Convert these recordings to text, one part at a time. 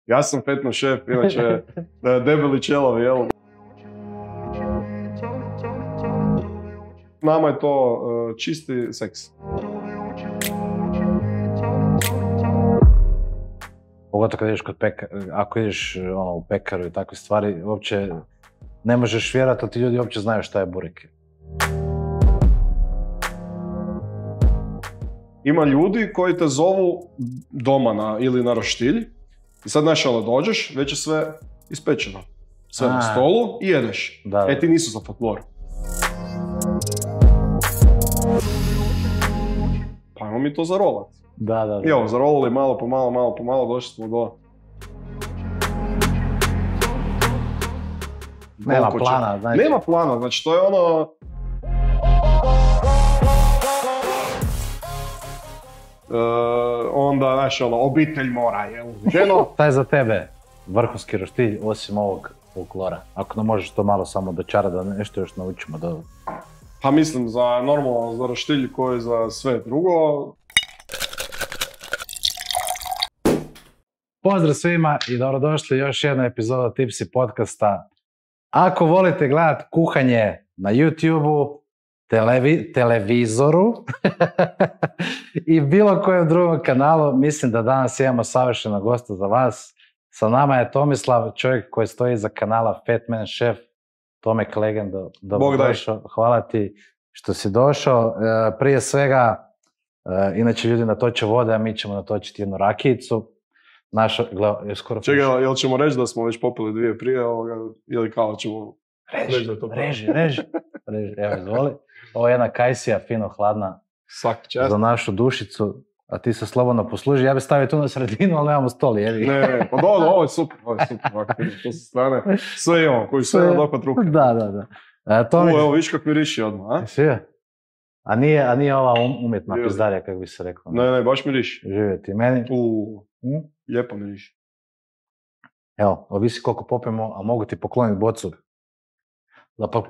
Ja sam Fetman Šef, inače debeli čelovi, jel? Nama je to čisti seks. Pogotovo kad ideš kod ako ideš u pekaru i takve stvari, uopće ne možeš vjerati da ti ljudi uopće znaju šta je burek. Ima ljudi koji te zovu doma ili na roštilj i sad dođeš, već je sve ispečeno. Sve na stolu i jedeš. Da. Ti nisu za folklor. Pa ajmo mi to zarolat. Da. I evo, zarolali malo po malo, došli smo do... Nema plana, znači. Nema plana, znači to je ono... onda, znaš, obitelj mora, jel? Ženo... Šta je za tebe vrhunski roštilj osim ovog folklora? Ako nam možeš to malo samo dočarati da nešto još naučimo da... Pa mislim, normalno za roštilj koji za sve drugo. Pozdrav svima i dobrodošli još jedna epizoda Tipsy podcasta. Ako volite gledati kuhanje na YouTube-u, televizoru i bilo kojem drugom kanalu, mislim da danas imamo savršenog gosta za vas. Sa nama je Tomislav, čovjek koji stoji iza kanala Fetman Šef. Tomek Legendo, dobrodošao. Hvala ti što si došao. Prije svega, inače ljudi natoče vode, a mi ćemo natočiti jednu rakijicu. Čekaj, jel ćemo reći da smo već popili dvije prije ili kao ćemo reći da je to pravo? Reži. Evo, izvoli. Ovo je jedna kajsija, fino hladna, za našu dušicu, a ti se slobodno posluži. Ja bih stavio tu na sredinu, ali nemamo stol, jedi. Ne, pa dobro, ovo je super. To su strane, sve imamo, koji sve na dohvat ruke. Da. Evo, viš kak miriši odmah, a? Sve. A nije ova umjetna pizdarija, kako bi se rekao. Ne, baš miriši. Živjeti meni. Lijepo miriši. Evo, ovisi koliko popijemo, a mogu ti pokloniti bocu.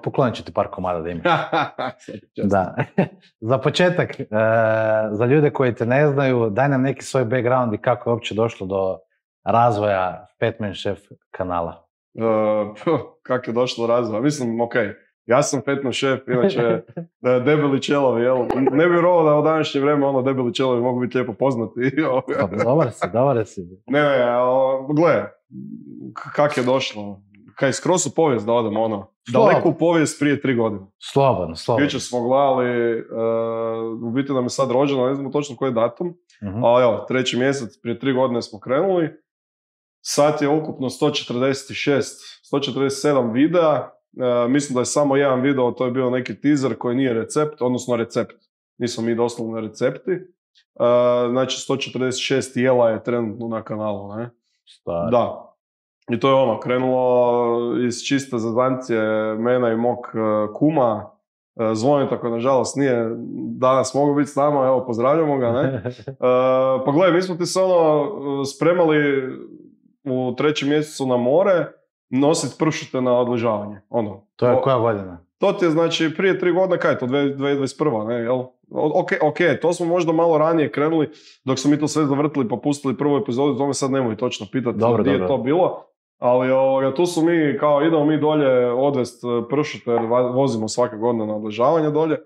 Poklonit ću ti par komada da imaš. Da. Za početak, za ljude koji te ne znaju, daj nam neki svoj background i kako je uopće došlo do razvoja Fetman Šef kanala. Kako je došlo do razvoja? Mislim, okej. Ja sam Fetman Šef, inače debeli čelovi, jel? Ne bi vjerovao da u današnje vrijeme debeli čelovi mogu biti lijepo poznati. Dobar si. Ne, gle, kak je došlo? Kaj, skroz u povijest da odemo, daleko u povijest prije 3 godine. Slobodno. Jučer smo gledali, u biti nam je sad rođeno, ne znamo točno koji je datum, ali evo, 3. mjesec, prije 3 godine smo krenuli. Sad je ukupno 147 videa, mislim da je samo jedan video, to je bio neki teaser koji nije recept, odnosno recept. Nismo mi doslovno recepti. Znači 146 jela je trenutno na kanalu, ne? Stari. Da. I to je krenulo iz čiste zazancije mene i mog kuma, Zvonita koji nažalost nije danas mogao biti s nama, evo pozdravljamo ga, ne? Pa gledaj, mi smo ti se spremali u 3. mjesecu na more, nositi pršute na odležavanje. To je koja godina? To ti je znači prije 3 godine, kaj je to, 2021. ne, jel? Ok, to smo možda malo ranije krenuli, dok smo mi to sve zavrtili pa pustili prvu epizodu, to me sad nemoj točno pitati gdje je to bilo. Ali tu su mi, kao idemo mi dolje odvest pršute, jer vozimo svake godine na odležavanje dolje.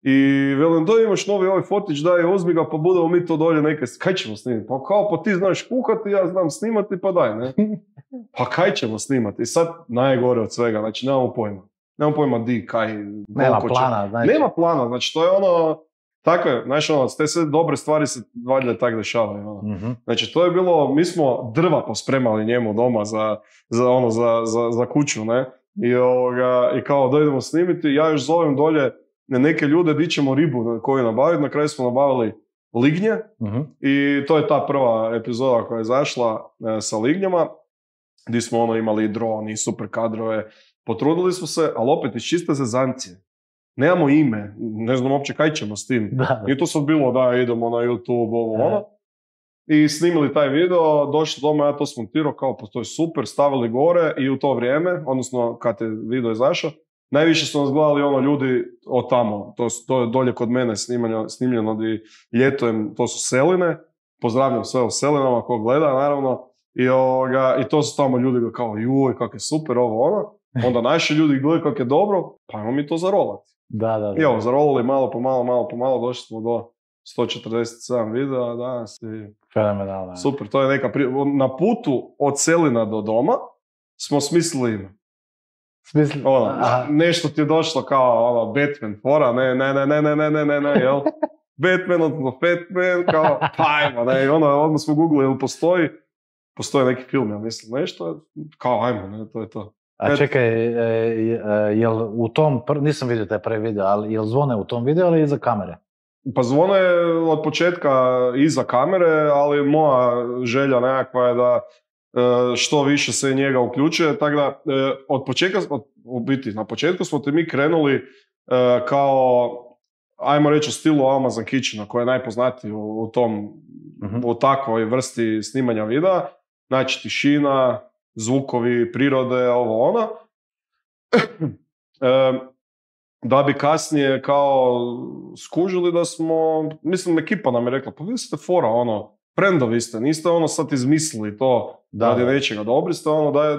I velim, da imaš novi ovaj fotić, daj, uzmi ga, pa budemo mi to dolje neke, kaj ćemo snimati? Pa ti znaš kuhati, ja znam snimati, pa daj, ne? Pa kaj ćemo snimati? I sad najgore od svega, znači nemamo pojma. Nemamo pojma di, kaj, nema plana, znači. Nema plana, znači to je tako je, znači te sve dobre stvari se valjda tak dešavaju. Znači to je bilo, mi smo drva pospremali njemu doma za kuću, ne? I kao da idemo snimiti, ja još zovem dolje neke ljude di ćemo ribu koju nabaviti, na kraju smo nabavili lignje i to je ta prva epizoda koja je zašla sa lignjama, gdje smo imali i dron i super kadrove, potrudili smo se, ali opet iz čiste zezancije. Nemamo ime, ne znam uopće kaj ćemo s tim. I to sad bilo da idemo na YouTube, I snimili taj video, došli doma, ja to smontirao, kao pa to je super, stavili gore i u to vrijeme, odnosno kad je video izašao, najviše su nas gledali ljudi od tamo, to je dolje kod mene snimljeno gdje ljetujem, to su Seline, pozdravljam sve u Selinama ko gleda naravno, I to su tamo ljudi kao, juj, kak je super ovo ono. Onda naši ljudi gledaju kako je dobro, pa ajmo mi to zarolati. Da. I evo, zarolali malo po malo, došli smo do 147 videa danas. Fenomenalno. Super, to je neka na putu od Selina do doma smo smislili ime. Nešto ti je došlo kao Batman fora, ne, jel? Batman, odnosno Fatman, kao, pa ajmo, ne, odmah smo googlili, jel postoji neki film, ja mislim, nešto, kao, ajmo, ne, to je to. A čekaj, jel u tom, nisam vidio taj prvi video, ali jel zvone u tom videu ili iza kamere? Pa zvone od početka iza kamere, ali moja želja nekakva je da što više se njega uključuje, tako da na početku smo te mi krenuli kao, ajmo reći, u stilu Amazon Kitchena, koji je najpoznatiji u tom, u takvoj vrsti snimanja videa, znači tišina, zvukovi, prirode, ovo ono. Da bi kasnije kao skužili da smo, mislim, ekipa nam je rekla, pa vi ste fora, friendovi ste, niste sad izmislili to radi nečega, dobri ste,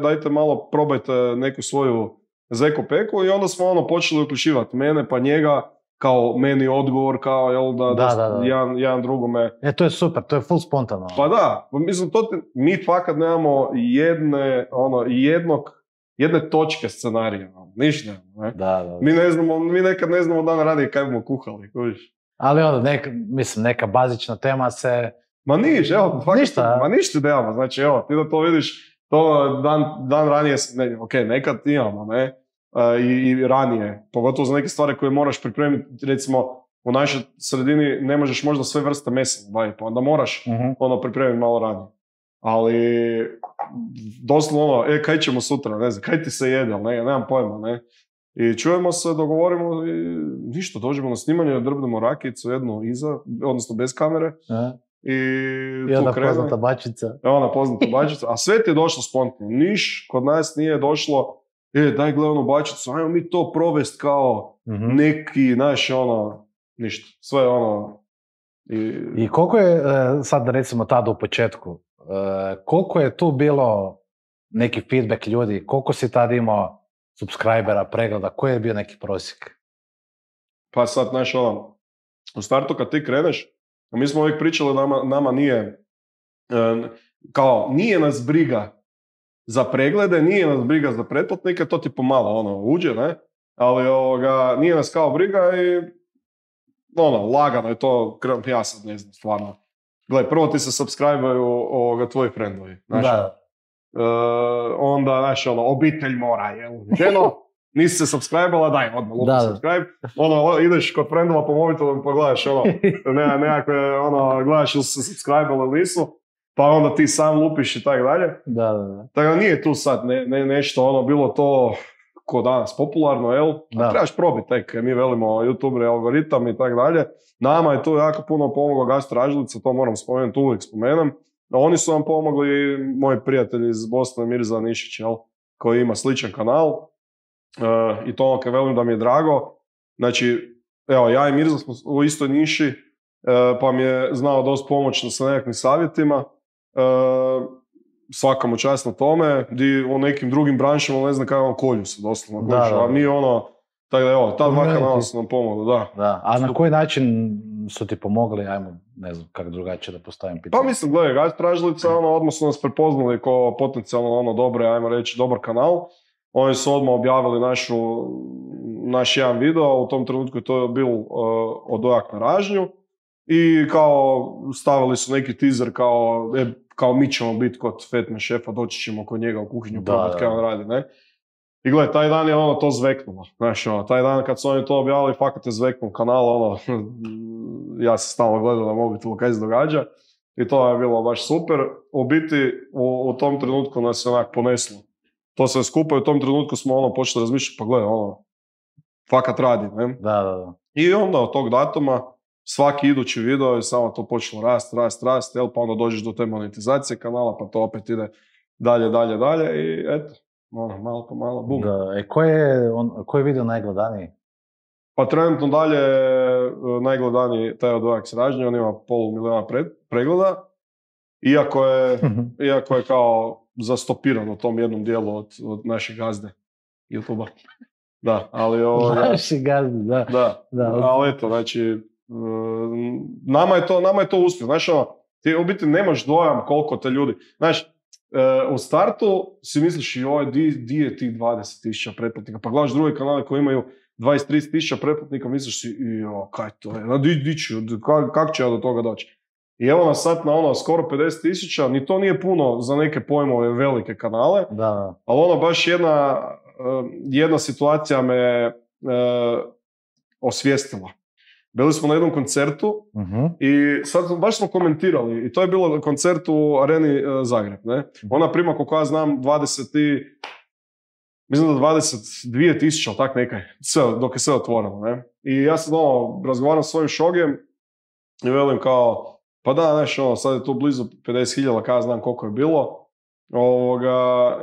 dajte malo, probajte neku svoju zeku-peku, i onda smo počeli uključivati mene pa njega, kao meni odgovor, kao jel da. Jedan drugome. To je super, to je full spontano. Pa da, mislim, mi fakat nemamo jedne točke scenarija, ništa. Ne? Da. Mi nekad ne znamo dan ranije kaj bomo kuhali, kojiš. Ali neka bazična tema se... Ma niš, evo, ništa. Ma ništa nemamo, znači evo, ti da to vidiš, to dan ranije, nekad imamo, ne, i ranije, pogotovo za neke stvari koje moraš pripremiti, recimo, u našoj sredini ne možeš možda sve vrste mesa nabaviti, pa onda moraš pripremiti malo ranije. Ali, doslovno, kaj ćemo sutra, ne znam, kaj ti se jede, nemam pojma, ne. I čujemo se, dogovorimo i ništa, dođemo na snimanje, drbnemo rakicu, jednu iza, odnosno bez kamere. I onda poznata bačica. Poznata bačica, a sve ti je došlo spontano. Niš kod nas nije došlo, daj gledaj onu bačicu, ajmo mi to provest kao neki, ništa, sve I koliko je, sad recimo tada u početku, koliko je tu bilo neki feedback ljudi, koliko si tad imao subscribera, pregleda, koji je bio neki prosjek? Pa sad, u startu kad ti kreneš, mi smo uvijek pričali, nama nije, nije nas briga za preglede, nije nas briga za pretplatnike, to ti pomalo uđe, ne? Ali nije nas kao briga i lagano je to, ja sad ne znam, stvarno. Gledaj, prvo ti se subscribe-aju tvoji friendovi, onda, obitelj mora, jel? Ženo, nisi se subscribe-ala, daj, odmah lupi subscribe. Ideš kod friendova po mobitelu pa gledaš, nekakve, gledaš ili se subscribe-ala ili nisu, pa onda ti sam lupiš i tako dalje. Da. Tako da nije tu sad nešto, bilo to ko danas popularno, jel? Trebaš probiti tek, mi velimo YouTuberi, algoritam i tako dalje. Nama je tu jako puno pomogla Gastro Ražilica, to moram spomenuti, uvijek spomenem. Oni su vam pomogli, moji prijatelji iz Bosne, Mirza Nišić, jel? Koji ima sličan kanal. I to velim da mi je drago. Znači, evo, ja i Mirza smo u istoj niši, pa mi je znao dosta pomoći sa nekakvim savjetima. Svaka mu čast na tome, di u nekim drugim branšama ne znam kako kolju se doslovno. A mi tako da evo, ta dva kanala su nam pomogli, da. A na koji način su ti pomogli, ajmo, ne znam kako drugačije da postavim pitanje? Pa mislim, gledaj, Gastro Ražilica, odmah su nas prepoznali kao potencijalno dobre, ajmo reći, dobar kanal. Oni su odmah objavili naš jedan video, u tom trenutku je to bil odojak na ražnju i kao stavili su neki teaser kao mi ćemo biti kod Fatman šefa, doći ćemo kod njega u kuhinju probati kaj on radi, ne? I gledaj, taj dan je to zveknulo, taj dan kad su oni to objavili, fakat je zveknuo kanal, ja sam stalno gledao na mobitelu kaj se događa i to je bilo baš super. U biti, u tom trenutku nas je onak poneslo. To sve skupa i u tom trenutku smo počeli razmišljati, pa gledaj, fakat radi, ne? Da. I onda od tog datuma svaki idući video je samo to počelo rast, jel, pa onda dođeš do te monetizacije kanala, pa to opet ide dalje i eto, malo po malo, bum. Da, koji je video najgledaniji? Pa trenutno dalje najgledaniji taj odojak s ražnje, on ima 500 000 pregleda. iako je kao zastopiran u tom jednom dijelu od naših gazde YouTube-a. Da, ali naši gazde, da. Ali eto, znači, nama je to uspjeh. Znaš, ti u biti nemaš dojam koliko te ljudi... Znaš, u startu si misliš di je tih 20.000 pretplatnika, pa gledaš druge kanale koji imaju 20-30.000 pretplatnika, misliš si, kaj to je, kako će ja do toga doći? I evo nas sad na skoro 50.000, ni to nije puno za neke pojmove velike kanale, da. Ali baš jedna situacija me osvijestila. Bili smo na jednom koncertu i sad baš smo komentirali i to je bilo koncert u Areni Zagreb. Ne? Ona prima, koliko ja znam, 22.000, ali tak nekaj, dok je sve otvoreno. Ne? I ja sad razgovaram s svojim šogem i velim kao, pa da, znaš, sad je tu blizu 50.000, kada ja znam koliko je bilo.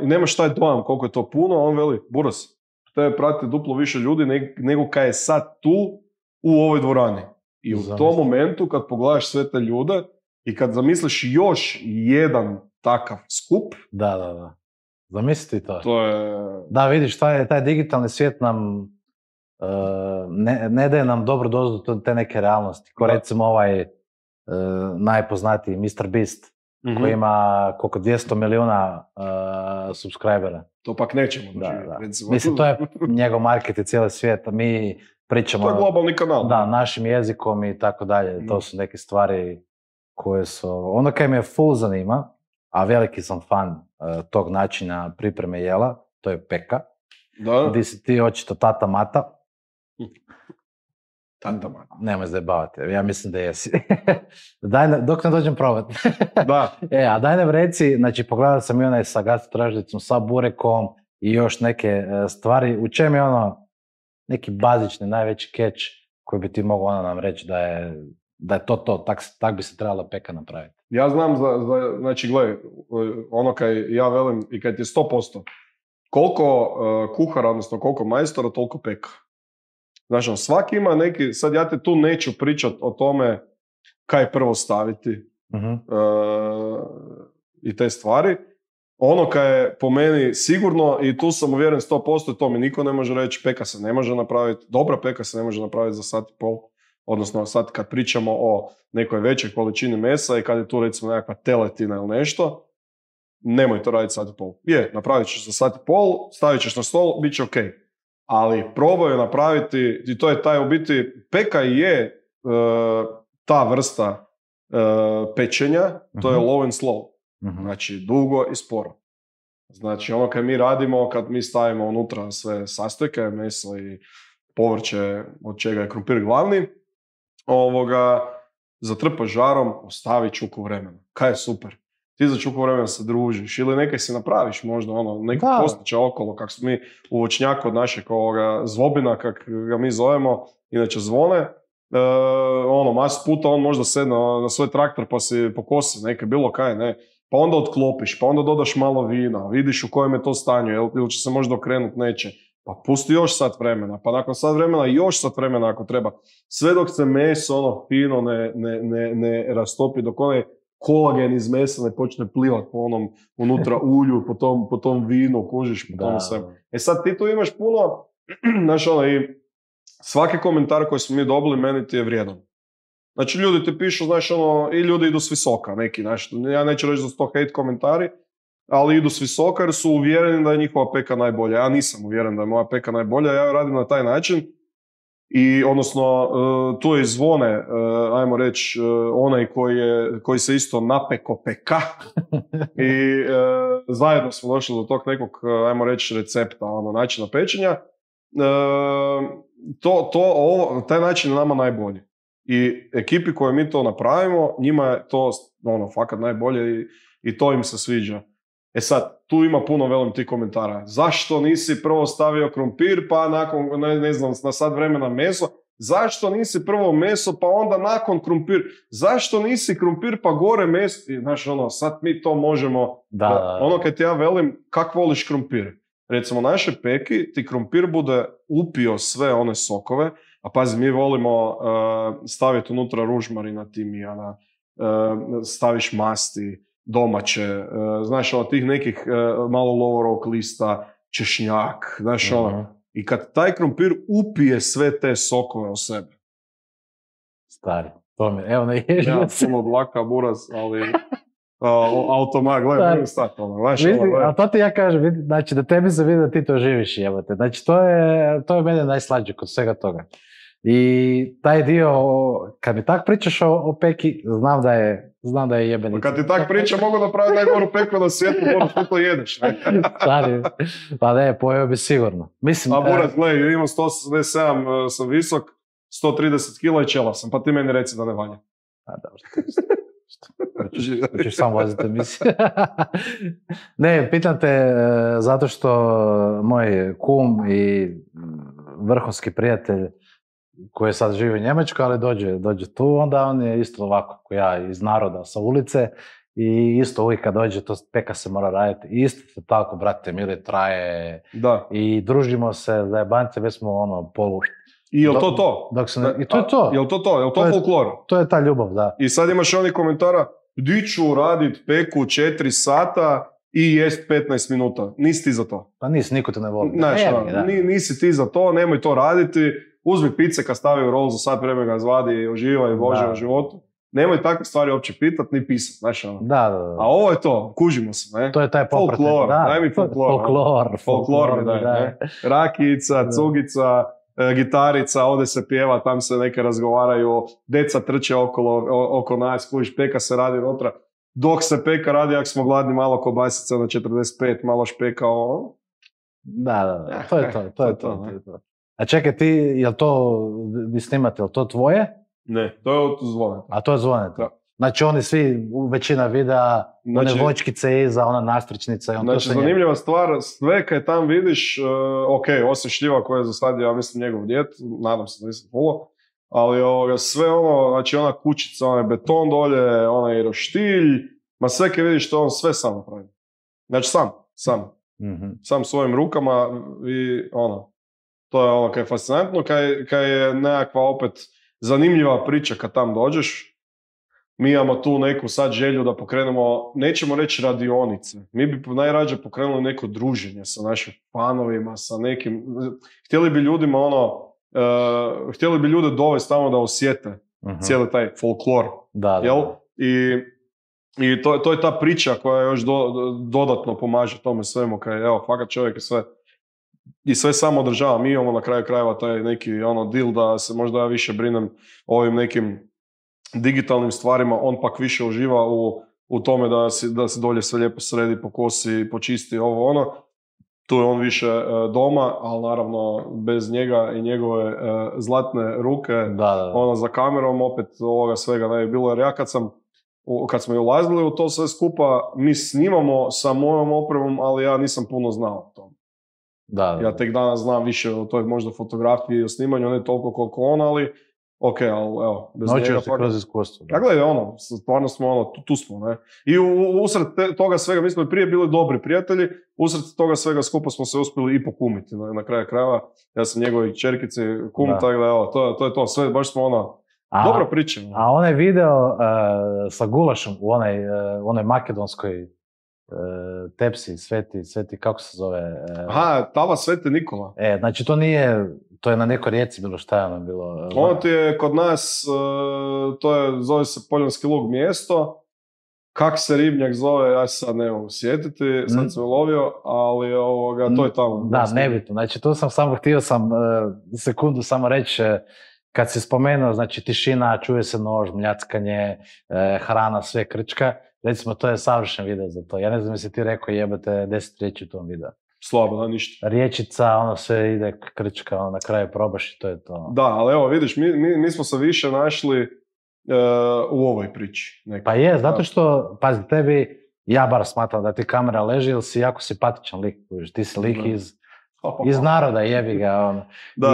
I nemaš taj dojam koliko je to puno, on veli, Buras, te prati duplo više ljudi nego kad je sad tu u ovoj dvorani. I u tom momentu kad pogledaš sve te ljude i kad zamisliš još jedan takav skup... Da. Zamisliti to. To je... Da, vidiš, taj digitalni svijet nam ne daje nam dobru dozu te neke realnosti. Ko recimo najpoznatiji Mr. Beast, koji ima koliko 200 milijuna subscribera. To pak nećemo doživjeti. Mislim, to je njegov market i cijeli svijet. Mi pričamo... To je globalni kanal. Da, našim jezikom i tako dalje. To su neke stvari koje su... Ono kaj me full zanima, a veliki sam fan tog načina pripreme jela, to je peka. Da. Gdje si ti očito tata Mata. Tata Mata. Nemoj zajebavati, ja mislim da jesi. Dok ne dođem probati. Da. A daj nam reci, znači pogledao sam i onaj sa gastrotražnicom, sa burekom i još neke stvari. U čem je neki bazični, najveći catch koji bi ti mogao nam reći da je to, tak bi se trebala peka napraviti? Ja znam znači gledaj, ono kaj ja velim i kaj ti je 100%, koliko kuhara, odnosno koliko majstora, toliko peka. Znači, svaki ima neki, sad ja te tu neću pričati o tome kaj prvo staviti i te stvari. Ono kaj je po meni sigurno, i tu sam uvjeren 100%, to mi niko ne može reći, peka se ne može napraviti, dobra peka se ne može napraviti za sat i pol. Odnosno sad kad pričamo o nekoj većoj količini mesa i kad je tu recimo nekakva teletina ili nešto, nemoj to raditi sat i pol. Napravit ćeš za sat i pol, stavit ćeš na stol, bit će ok. Ali probaju napraviti, i to je taj u biti, peka je ta vrsta pečenja, to je low and slow. Znači dugo i sporo. Znači ono kad mi radimo, kad mi stavimo unutra sve sastojke, meso i povrće, od čega je krumpir glavni, zatrpaš žarom, ostavi čuku vremena. Kaj je super? Ti za čuku vremena se družiš ili nekaj si napraviš možda nekog postića okolo, kako smo mi u voćnjaku od našeg zvobina, kak ga mi zovemo, inače zvone, masu puta on možda sedne na svoj traktor pa si pokosi neke bilo kaj, ne, pa onda otklopiš, pa onda dodaš malo vina, vidiš u kojem je to stanju, ili će se možda okrenuti, neće. Pa pusti još sat vremena, pa nakon sat vremena još sat vremena ako treba. Sve dok se meso fino ne rastopi, dok onaj kolagen iz mesa ne počne plivati po onom unutra ulju, po tom vinu, kužiš, po tom svemu. Sad ti tu imaš puno, znaš i svaki komentar koji smo mi dobili meni ti je vrijedan. Znači ljudi ti pišu, znaš i ljudi idu s visoka, neki, znaš, ja neću reći da su to hate komentari, ali idu s visoka jer su uvjereni da je njihova peka najbolja. Ja nisam uvjeren da je moja peka najbolja, ja radim na taj način i odnosno tu je zvone, ajmo reći, onaj koji se isto napeko peka i zajedno smo došli do tog nekog, ajmo reći, recepta, načina pečenja. Taj način je nama najbolji. I ekipi koje mi to napravimo, njima je to fakat najbolje i to im se sviđa. Sad, tu ima puno velim tih komentara. Zašto nisi prvo stavio krumpir, pa nakon, ne znam, na sat vremena meso? Zašto nisi prvo meso, pa onda nakon krumpir? Zašto nisi krumpir, pa gore meso? I, znaš, sad mi to možemo... Da. Kad ti ja velim, kak voliš krumpir? Recimo, naše peki, ti krumpir bude upio sve one sokove, a pazi, mi volimo staviti unutra ružmarina, timijana, staviš masti, domaće, znaš, od tih nekih malo lovorog lista, češnjak, znaš, i kad taj krompir upije sve te sokove o sebe. Stari, to mi, evo ne ježio se. Ja, puno dlaka, buraz, ali automat, gledaj, mogu stati, znaš, a to ti ja kažem, znači da tebi se vidi da ti to živiš, jebate. Znači, to je mene najslađe kod svega toga. I taj dio, kad mi tak pričaš o peki, znam da je jebenica. Kad ti tak priča, mogu napraviti najgoru peku na svijetu, moraš što to jedeš. Stari, pa ne, pojeo bi sigurno. Mislim, a buraz, gledaj, imam 187, sam visok, 130 kila i čela sam, pa ti meni reci da ne valja. A dobro, hoćeš sam voziti emisiju. Ne, pitam te zato što moj kum i vrhunski prijatelj koji sad živi u Njemačkoj, ali dođe tu, onda on je isto ovako ko ja, iz naroda, sa ulice, i isto uvijek kad dođe, to peka se mora raditi. I isto se tako, brate, mili, traje. Da. I družimo se, zajebance, već smo polu... I je li to? I to je to. Je li to folklor? To je ta ljubav, da. I sad imaš oni komentara, di ću radit peku 4 sata i jest 15 minuta. Nisi ti za to. Pa niko te ne voli. Znači, nisi ti za to, nemoj to raditi. Uzmi pice kad stavi u rol za sat vremena ga izvadi i uživa i vože u životu. Nemoj takve stvari uopće pitat ni pisat. Znači, da. A ovo je to, kužimo se, ne? To je taj popratni. Folklor, daj mi folklor. Folklor mi daj, ne? Rakijica, cugica, gitarica, ovdje se pjeva, tam se neke razgovaraju, deca trče oko nas, kužiš, peka se radi unutra. Dok se peka radi, ako smo gladni, malo kobasica na 45, malo špeka, ovo. Da, to je to. A čekaj, ti, jel to, vi snimate, jel to tvoje? Ne, to je od Zvoneta. A to je Zvoneta? Da. Znači oni svi, većina videa, one vočkice iza, ona nastričnica i on znači, to sve zanimljiva stvar, sve kad tam vidiš, osim šljiva koje je za sad, ja mislim, njegov djed, nadam se da nisam fulo, ali sve ono, znači ona kućica, onaj beton dolje, onaj roštilj, ma sve kad vidiš to on sve sam napravi. Znači sam. Mm-hmm. Sam svojim rukama i to je ono kaj je fascinantno, kaj je nekakva opet zanimljiva priča kad tam dođeš. Mi imamo tu neku sad želju da pokrenemo, nećemo reći radionice, mi bi najrađe pokrenuli neko druženje sa našim fanovima, sa nekim, htjeli bi ljudima htjeli bi ljude dovesti tamo da osjete cijeli taj folklor, jel? I to je ta priča koja još dodatno pomaže tome svemu, kaj evo, fakat čovjek i sve samo održava. Mi imamo na kraju krajeva taj neki deal da se možda ja više brinem o ovim nekim digitalnim stvarima, on pak više uživa u tome da se dolje sve lijepo sredi, pokosi, počisti, tu je on više doma, ali naravno bez njega i njegove zlatne ruke, za kamerom opet ovoga svega ne bi bilo, jer ja kad smo i ulazili u to sve skupa, mi snimamo sa mojom opremom, ali ja nisam puno znao o tom. Ja tek danas znam više o toj možda fotografiji i o snimanju, ne toliko koliko on, ali ali evo, bez njega... Naučio se kroz iskustvo. Ja gledaj, stvarno smo, tu smo, ne. I usred toga svega, mi smo prije bili dobri prijatelji, usred toga svega skupa smo se uspjeli i pokumiti na kraju krajeva. Ja sam njegovi čerkici kum, tako da evo, to je to, sve, baš smo dobra priča. A onaj video sa gulašom u onoj makedonskoj tepsi, sveti, kako se zove? Tava Sveti Nikola. Znači to je na nekoj rijeci bilo, šta je ono bilo? Ono ti je kod nas, zove se Poljanski lug mjesto. Kak se ribnjak zove, ja se sad ne mogu sjetiti, sad sam ulovio, ali to je tamo. Da, nebitno. Znači tu htio sam sekundu samo reći, kad si spomenuo, znači tišina, čuje se nož, mljackanje, hrana, sve krčka. Recimo, to je savršen video za to. Ja ne znam jesi ti rekao jebate 10 riječi u tom videu. Slabo, da, ništa. Riječica, sve ide krčka, na kraju probaš i to je to. Da, ali evo, vidiš, mi smo se više našli u ovoj priči. Pa je, zato što, pazi, tebi, ja bar smatram da ti kamera leži, ili si jako simpatičan lik, ti si lik iz naroda, jebi ga.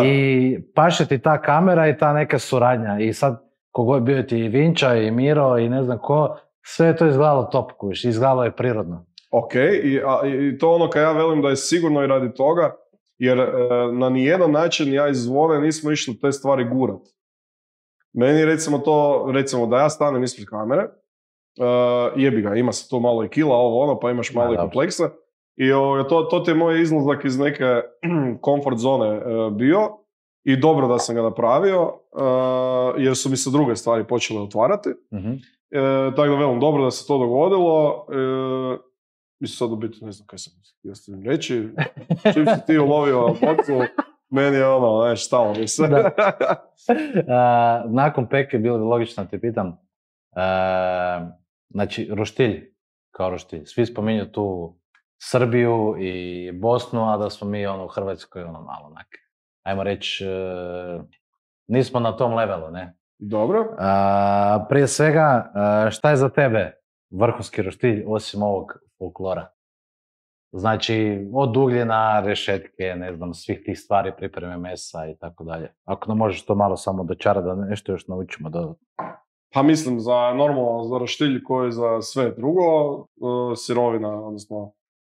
I paše ti ta kamera i ta neka suradnja. I sad, kogod bio ti i Vinča i Miro i ne znam ko, sve je to izgledalo top, izgledalo je prirodno. Ok, i to kad ja velim da je sigurno i radi toga, jer na nijedan način ja iz Zvone nismo išli te stvari gurat. Meni recimo da ja stanem ispred kamere, jebi ga, ima se tu malo i kila, ovo ono, pa imaš malo i kompleksa. I to ti je moj izlazak iz neke comfort zone bio i dobro da sam ga napravio, jer su mi se druge stvari počele otvarati. Tako da velim, dobro da se to dogodilo. Mislim sad u biti, ne znam kaj sam htio s tim reći. Čim si ti ulovio bocu, meni je znaš, stalo mi se. Nakon Peke bilo bi logično da te pitam, znači, roštilj, kao roštilj. Svi spominju tu Srbiju i Bosnu, a da smo mi u Hrvatskoj malo onak. Ajmo reći, nismo na tom levelu, ne? Dobro. Prije svega, šta je za tebe vrhunski roštilj osim ovog folklora? Znači, od ugljena, rešetke, ne znam, svih tih stvari, pripreme mesa i tako dalje. Ako nam možeš to malo samo dočarati da nešto još naučimo dodatno. Pa mislim, normalno za roštilj koji je za sve drugo, sirovina, odnosno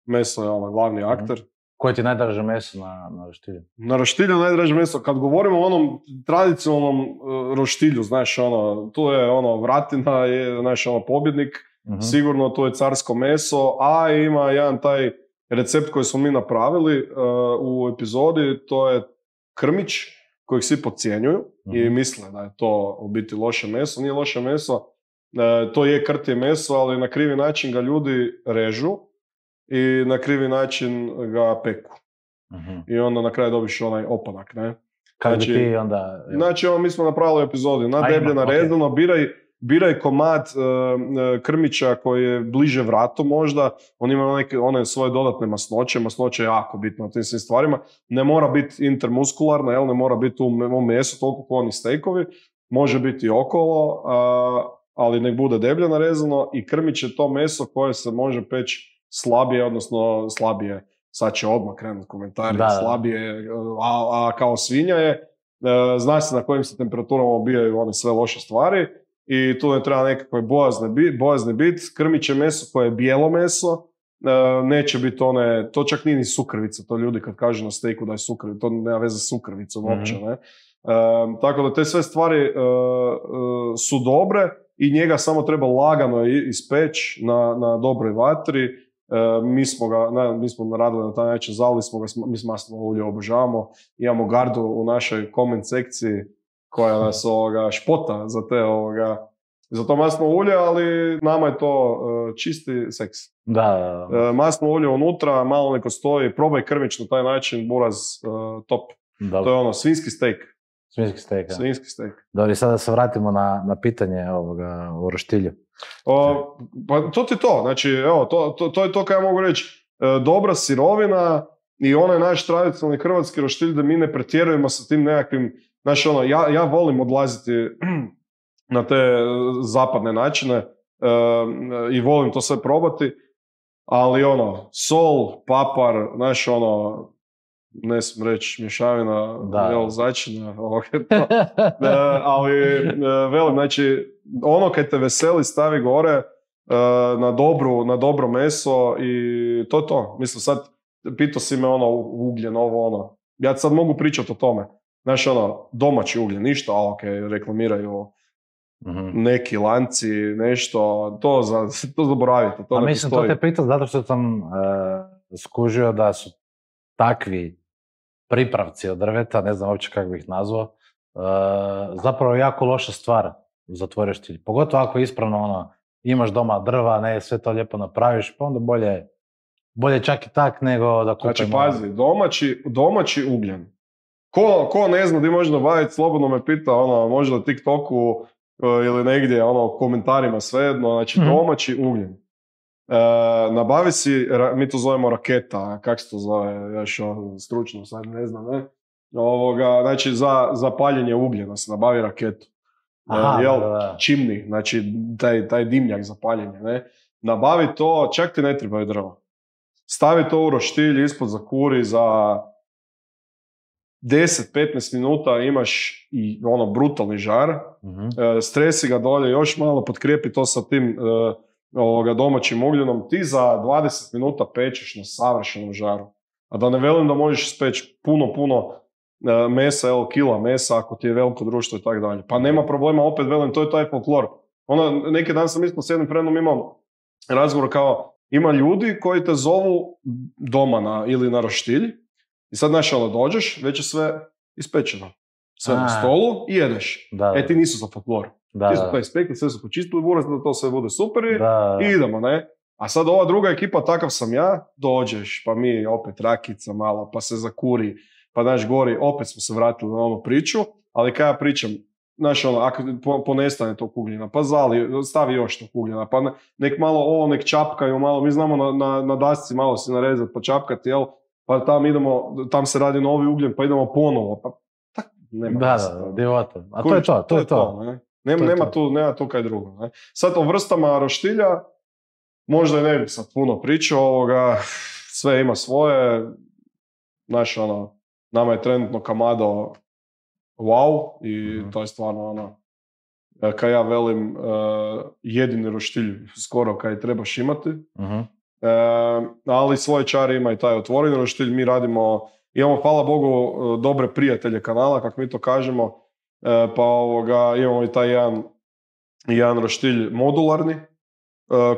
meso je glavni akter. Koje ti je najdraže meso na roštilju? Na roštilju najdraže meso, kad govorimo o onom tradicionalnom roštilju, znaš, tu je vratina, je, znaš, pobjednik, sigurno tu je carsko meso, a ima jedan taj recept koji smo mi napravili u epizodi, to je krmić, kojeg svi podcjenjuju i misle da je to u biti loše meso. Nije loše meso, to je krtije meso, ali na krivi način ga ljudi režu i na krivi način ga peku. I onda na kraju dobiš onaj opanak, ne? Kako bi ti onda... Znači, mi smo napravili epizodi, na deblje, narezano, biraj komad krmića koji je bliže vratu možda, on ima one svoje dodatne masnoće, masnoće je jako bitno na tim svim stvarima, ne mora biti intermuskularna, ne mora biti u mesu toliko kao oni stejkovi, može biti okolo, ali nek bude deblje narezano i krmić je to meso koje se može peći slabije, sad će odmah krenuti komentari, slabije, a kao svinja je, zna se na kojim se temperaturama ubijaju one sve loše stvari i tu ne treba nekakve bojazni bit, krmit će meso koje je bijelo meso, neće biti to čak nije ni sukrvica, to ljudi kad kažu na stejku da je sukrvica, to nema veze s sukrvicom uopće, ne? Tako da te sve stvari su dobre i njega samo treba lagano ispeći na dobroj vatri. Mi smo naradili na taj način, zalili smo ga, mi maslinovo ulje obožavamo, imamo gardu u našoj comment sekciji koja nas špota za to maslinovo ulje, ali nama je to čisti seks. Da. Maslinovo ulje unutra, malo neko stoji, probaj krmić na taj način, buraz, top. Dobro. To je svinjski steak. Svinjski steak. Dobro, i sada se vratimo na pitanje o roštilju. Pa to ti to, znači, evo, to je to kaj ja mogu reći. Dobra sirovina i onaj naš tradicionalni hrvatski roštilj da mi ne pretjerujemo sa tim nekakvim, znači, ja volim odlaziti na te zapadne načine i volim to sve probati, ali sol, papar, znači, ne smijem reći mješavina, začina, ali velim, znači, kaj te veseli stavi gore na dobro meso i to je to. Mislim, sad pitao si me ugljen, ja sad mogu pričati o tome. Znači, domaći ugljen, ništa, reklamiraju neki lanci, nešto, to zaboravite. To mislim, to te pitao zato što sam skužio da su takvi pripravci od drveta, ne znam uopće kako bih ih nazvao, zapravo jako loša stvar za tvoj roštilj. Pogotovo ako ispravno imaš doma drva, ne, sve to lijepo napraviš, pa onda bolje čak i tak nego da kupimo. Znači, pazi, domaći ugljen. Ko ne zna gdje može nabaviti, slobodno me pita, možda na TikToku ili negdje, komentarima svejedno, znači domaći ugljen. Nabavi si, mi to zovemo raketa, kako se to zove, još stručno, sad ne znam, ne? Znači, za paljenje ugljena se nabavi raketu. Čimni, znači taj dimnjak za paljenje, ne? Nabavi to, čak ti ne trebaju drva. Stavi to u roštilj, ispod zakuri, za 10-15 minuta imaš i brutalni žar, stresi ga dolje, još malo potkrijepi to sa tim domaćim ugljenom, ti za 20 minuta pečeš na savršenom žaru. A da ne velim da možeš speći puno mesa, kila mesa, ako ti je veliko društvo i tako dalje. Pa nema problema, opet velim, to je taj folklor. Neki dan sam isto s jednim friendom imao razgovor kao, ima ljudi koji te zovu doma ili na roštilj i sad dođeš, već je sve ispečeno. Sve na stolu i jedeš. Ti nisu za folklor. Ti su to ispekli, sve su počistili buraz, da to sve bude super i idemo, ne? A sad ova druga ekipa, takav sam ja, dođeš, pa mi opet rakica malo, pa se zakuri, pa naš gori, opet smo se vratili na onu priču, ali kada ja pričam, ako ponestane to kugljena, pa stavi još to kugljena, pa nek malo nek čapkaju malo, mi znamo na dasci malo se narezati, pa čapkati, pa tam se radi novi ugljen, pa idemo ponovo, pa tak, nema. Divota. A to je to. Nema tu kaj drugo. Ne? Sad o vrstama roštilja, možda i ne bi sad puno pričao, sve ima svoje, nama je trenutno Kamado wow i to je stvarno kaj ja velim, jedini roštilj skoro kaj trebaš imati. Ali svoje čari ima i taj otvoreni roštilj, mi imamo, hvala Bogu, dobre prijatelje kanala, kako mi to kažemo, pa imamo i taj jedan roštilj modularni,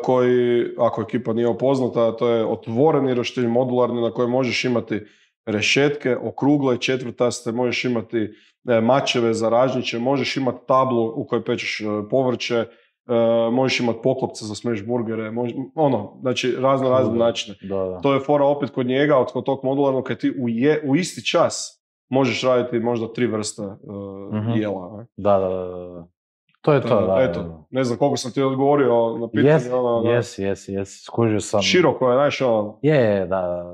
koji, ako ekipa nije upoznata, to je otvoreni roštilj modularni na kojem možeš imati rešetke, okrugle, četvrtaste, možeš imati mačeve za ražnjiće, možeš imati tablu u kojoj pečeš povrće, možeš imati poklopce za smeš burgere, znači razne načine. Da. To je fora opet kod njega, kod tog modularnog, kad ti u isti čas možeš raditi možda 3 vrste jela. Ne? Da. To je to, Eto, ne znam koliko sam ti odgovorio na pitanje. Yes, skužio sam. Široko je, znaš,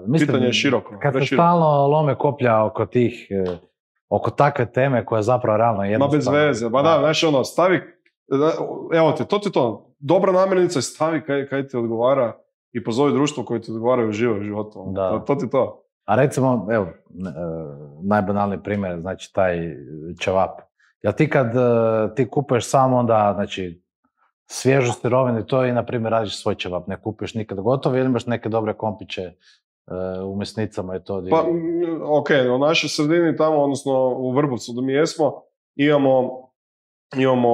Mislim, pitanje je široko. Kad se stalno lome koplja oko takve teme koja je zapravo realno jednostavno. Ma bez veze, znaš, stavi, evo te, to ti to, dobra namirnica je stavi kaj ti odgovara i pozovi društvo koje ti odgovara u životu. To ti to. A recimo, evo, najbanalniji primjer, znači taj ćevap. Jel ti kad ti kupuješ samo onda, znači, svježu sirovinu to i, na primjer, radiš svoj ćevap, ne kupuješ nikad gotovo ili imaš neke dobre kompiće u mesnicama i to? Pa, u našoj sredini tamo, odnosno u Vrbovcu da mi jesmo, imamo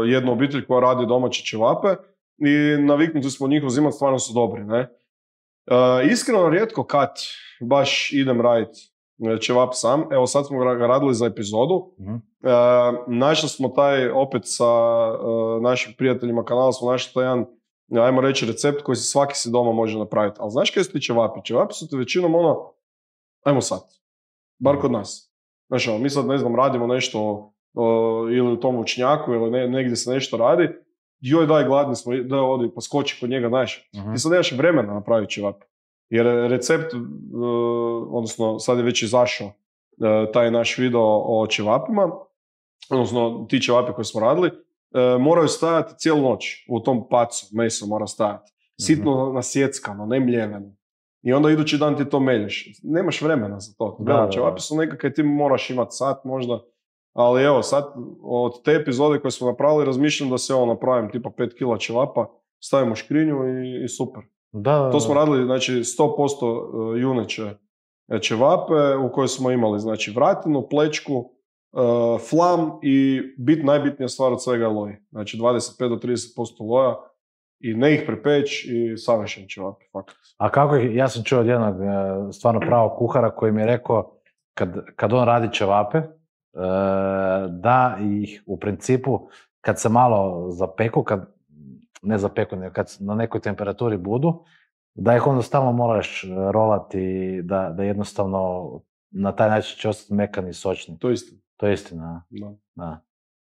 jednu obitelj koja radi domaće ćevape i naviknuti smo njih uzimati, stvarno su dobri, ne? Iskreno, rijetko kad baš idem raditi ćevap sam. Evo sad smo ga radili za epizodu. Našli smo taj, opet sa našim prijateljima kanala, smo našli taj jedan, ajmo reći, recept koji svaki si doma može napraviti. Ali znaš kaj su ti ćevapi? Ćevapi su ti većinom ajmo sad, bar kod nas. Znaš, mi sad, ne znam, radimo nešto ili u tom vučnjaku ili negdje se nešto radi, joj daj, gladni smo, daj odi, pa skoči kod njega, znaš. Ti sad nemaš vremena napraviti ćevap. Jer recept, odnosno sad je već izašao taj naš video o ćevapima, odnosno ti ćevapi koje smo radili, moraju stajati cijelu noć u tom pacu, meso mora stajati. Sitno nasjeckano, ne mljeveno. I onda idući dan ti to melješ. Nemaš vremena za to. Ćevapi su nekakve, ti moraš imati sat možda. Ali evo, sad od te epizode koje smo napravili, razmišljam da se napravim tipa 5 kila ćevapa, stavimo škrinju i super. To smo radili, znači, 100% juneće ćevape u kojoj smo imali, znači, vratinu, plečku, flam i najbitnija stvar od svega je loj. Znači, 25 do 30% loja i ne ih prepeć i savršen ćevapi, fakat. A kako ja sam čuo od jednog stvarno pravog kuhara koji mi je rekao kad on radi ćevape, da ih u principu kad se malo zapeku, ne zapeku, nego kad na nekoj temperaturi budu, da ih onda stalno moraš rolati, da jednostavno na taj način će ostati mekani i sočni. To je istina. To je istina, da.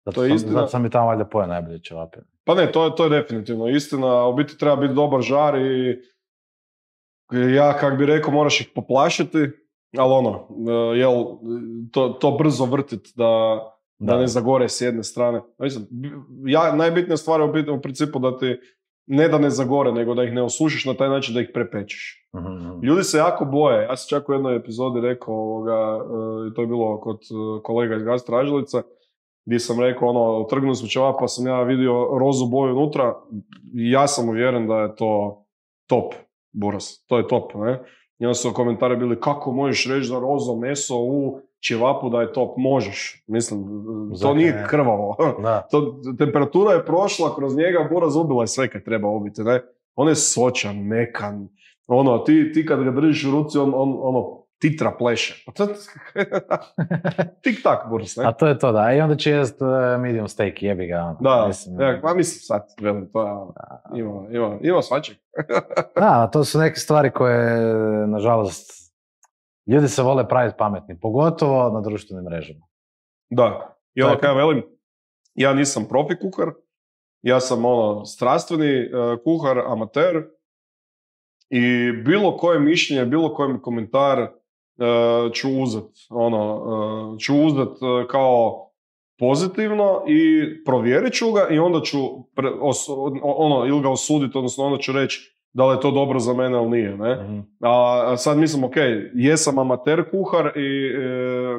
Zato sam i tamo valjda pojeo najbolje ćevape. Pa ne, to je definitivno istina. U biti treba biti dobar žar i ja, kak bi rekao, moraš ih poplašiti, ali to brzo vrtit da ne zagore s jedne strane. Najbitnija stvar je u principu da ti ne da ne zagore, nego da ih ne osušiš na taj način da ih prepečeš. Ljudi se jako boje. Ja sam čak u jednoj epizodi rekao, to je bilo kod kolega iz Gastro Ažilica, gdje sam rekao, trgnuli smo ćevap, pa sam ja vidio rozu boju unutra i ja sam uvjeren da je to top buras. To je top, ne? I onda su komentari bili, kako možeš reći da rozo meso u ćevapu da je top, možeš. Mislim, to nije krvavo. Temperatura je prošla kroz njega, buraz ubila je sve kad treba ubiti, ne? On je sočan, mekan. Ti kad ga držiš u ruci, on titra pleše. Tik tak, buraz, ne? A to je to, da. I onda će jest medium steak, jebi ga. Da, mislim sad, velim, to je, ima svačeg. Da, to su neke stvari koje, nažalost, ljudi se vole praviti pametni, pogotovo na društvenim mrežama. Da, i ono kaj velim, ja nisam profi kuhar, ja sam strastveni kuhar, amater, i bilo koje mišljenje, bilo koji komentar ću uzet kao pozitivno i provjerit ću ga i onda ću ili ga osuditi, odnosno onda ću reći da li je to dobro za mene ili nije, ne? Mm-hmm. A sad mislim, jesam amater kuhar i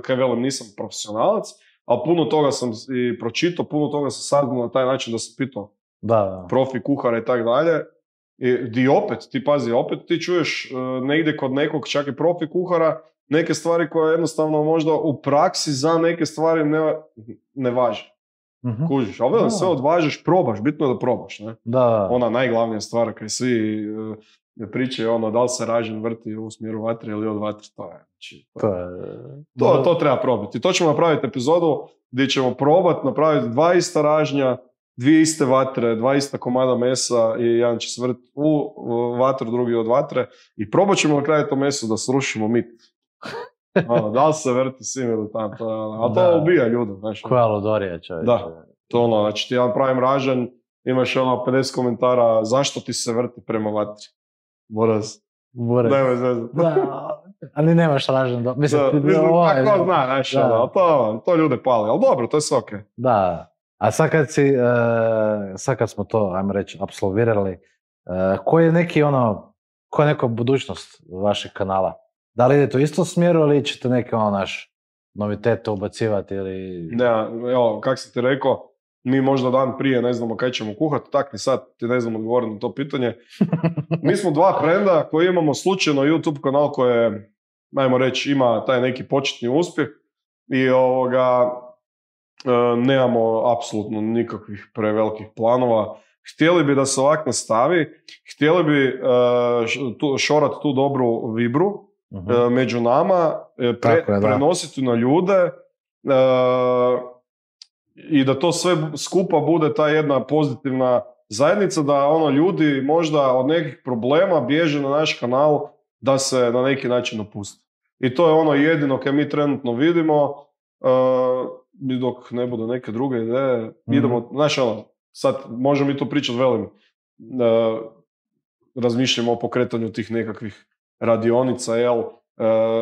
kaj velim, nisam profesionalac, ali puno toga sam i pročitao, puno toga sam saznao na taj način da sam pitao profi kuhara i tak dalje. I opet ti čuješ negdje kod nekog, čak i profi kuhara, neke stvari koje jednostavno možda u praksi za neke stvari ne važe. Mm-hmm. Kužiš, ali sve odvažiš, probaš, bitno je da probaš, ne? Da. Ona najglavnija stvar kaj svi pričaju, da li se ražen vrti u smjeru vatre ili od vatre, to treba probati. To ćemo napraviti epizodu gdje ćemo probati napraviti 2 ista ražnja, 2 iste vatre, 2 ista komada mesa i jedan će se vrti u vatru, drugi od vatre i probat ćemo na kraju to meso da srušimo mit. Da li se vrti svim ili tam, ali to ubija ljude. Koja ludorija, čovječe. Da, to znači ti jedan pravim ražanj, imaš 50 komentara zašto ti se vrti prema vatri. Buraz. Nemoj zvezati. Ali nemaš ražanj. Tako zna, to ljude pali, ali dobro, to je sve okej. Da. A sad kad smo to, ajmo reći, apsolvirali, koja je neka budućnost vašeg kanala? Da li idete u istom smjeru ili ćete neke novitete ubacivati ili... Ne, evo, kak sam ti rekao, mi možda dan prije ne znamo kaj ćemo kuhati, tak ni sad ti ne znam odgovoriti na to pitanje. Mi smo 2 frenda koji imamo slučajno YouTube kanal koje, ajmo reći, ima taj neki početni uspjeh i nemamo apsolutno nikakvih prevelikih planova. Htjeli bi da se ovak nastavi, htjeli bi šorati tu dobru vibru među nama, prenositi na ljude i da to sve skupa bude ta jedna pozitivna zajednica, da ljudi možda od nekih problema bježe na naš kanal da se na neki način opuste. I to je jedino kaj mi trenutno vidimo. Dok ne bude neke druge ideje, idemo, sad možemo mi tu pričati, velim, razmišljamo o pokretanju tih nekakvih radionica,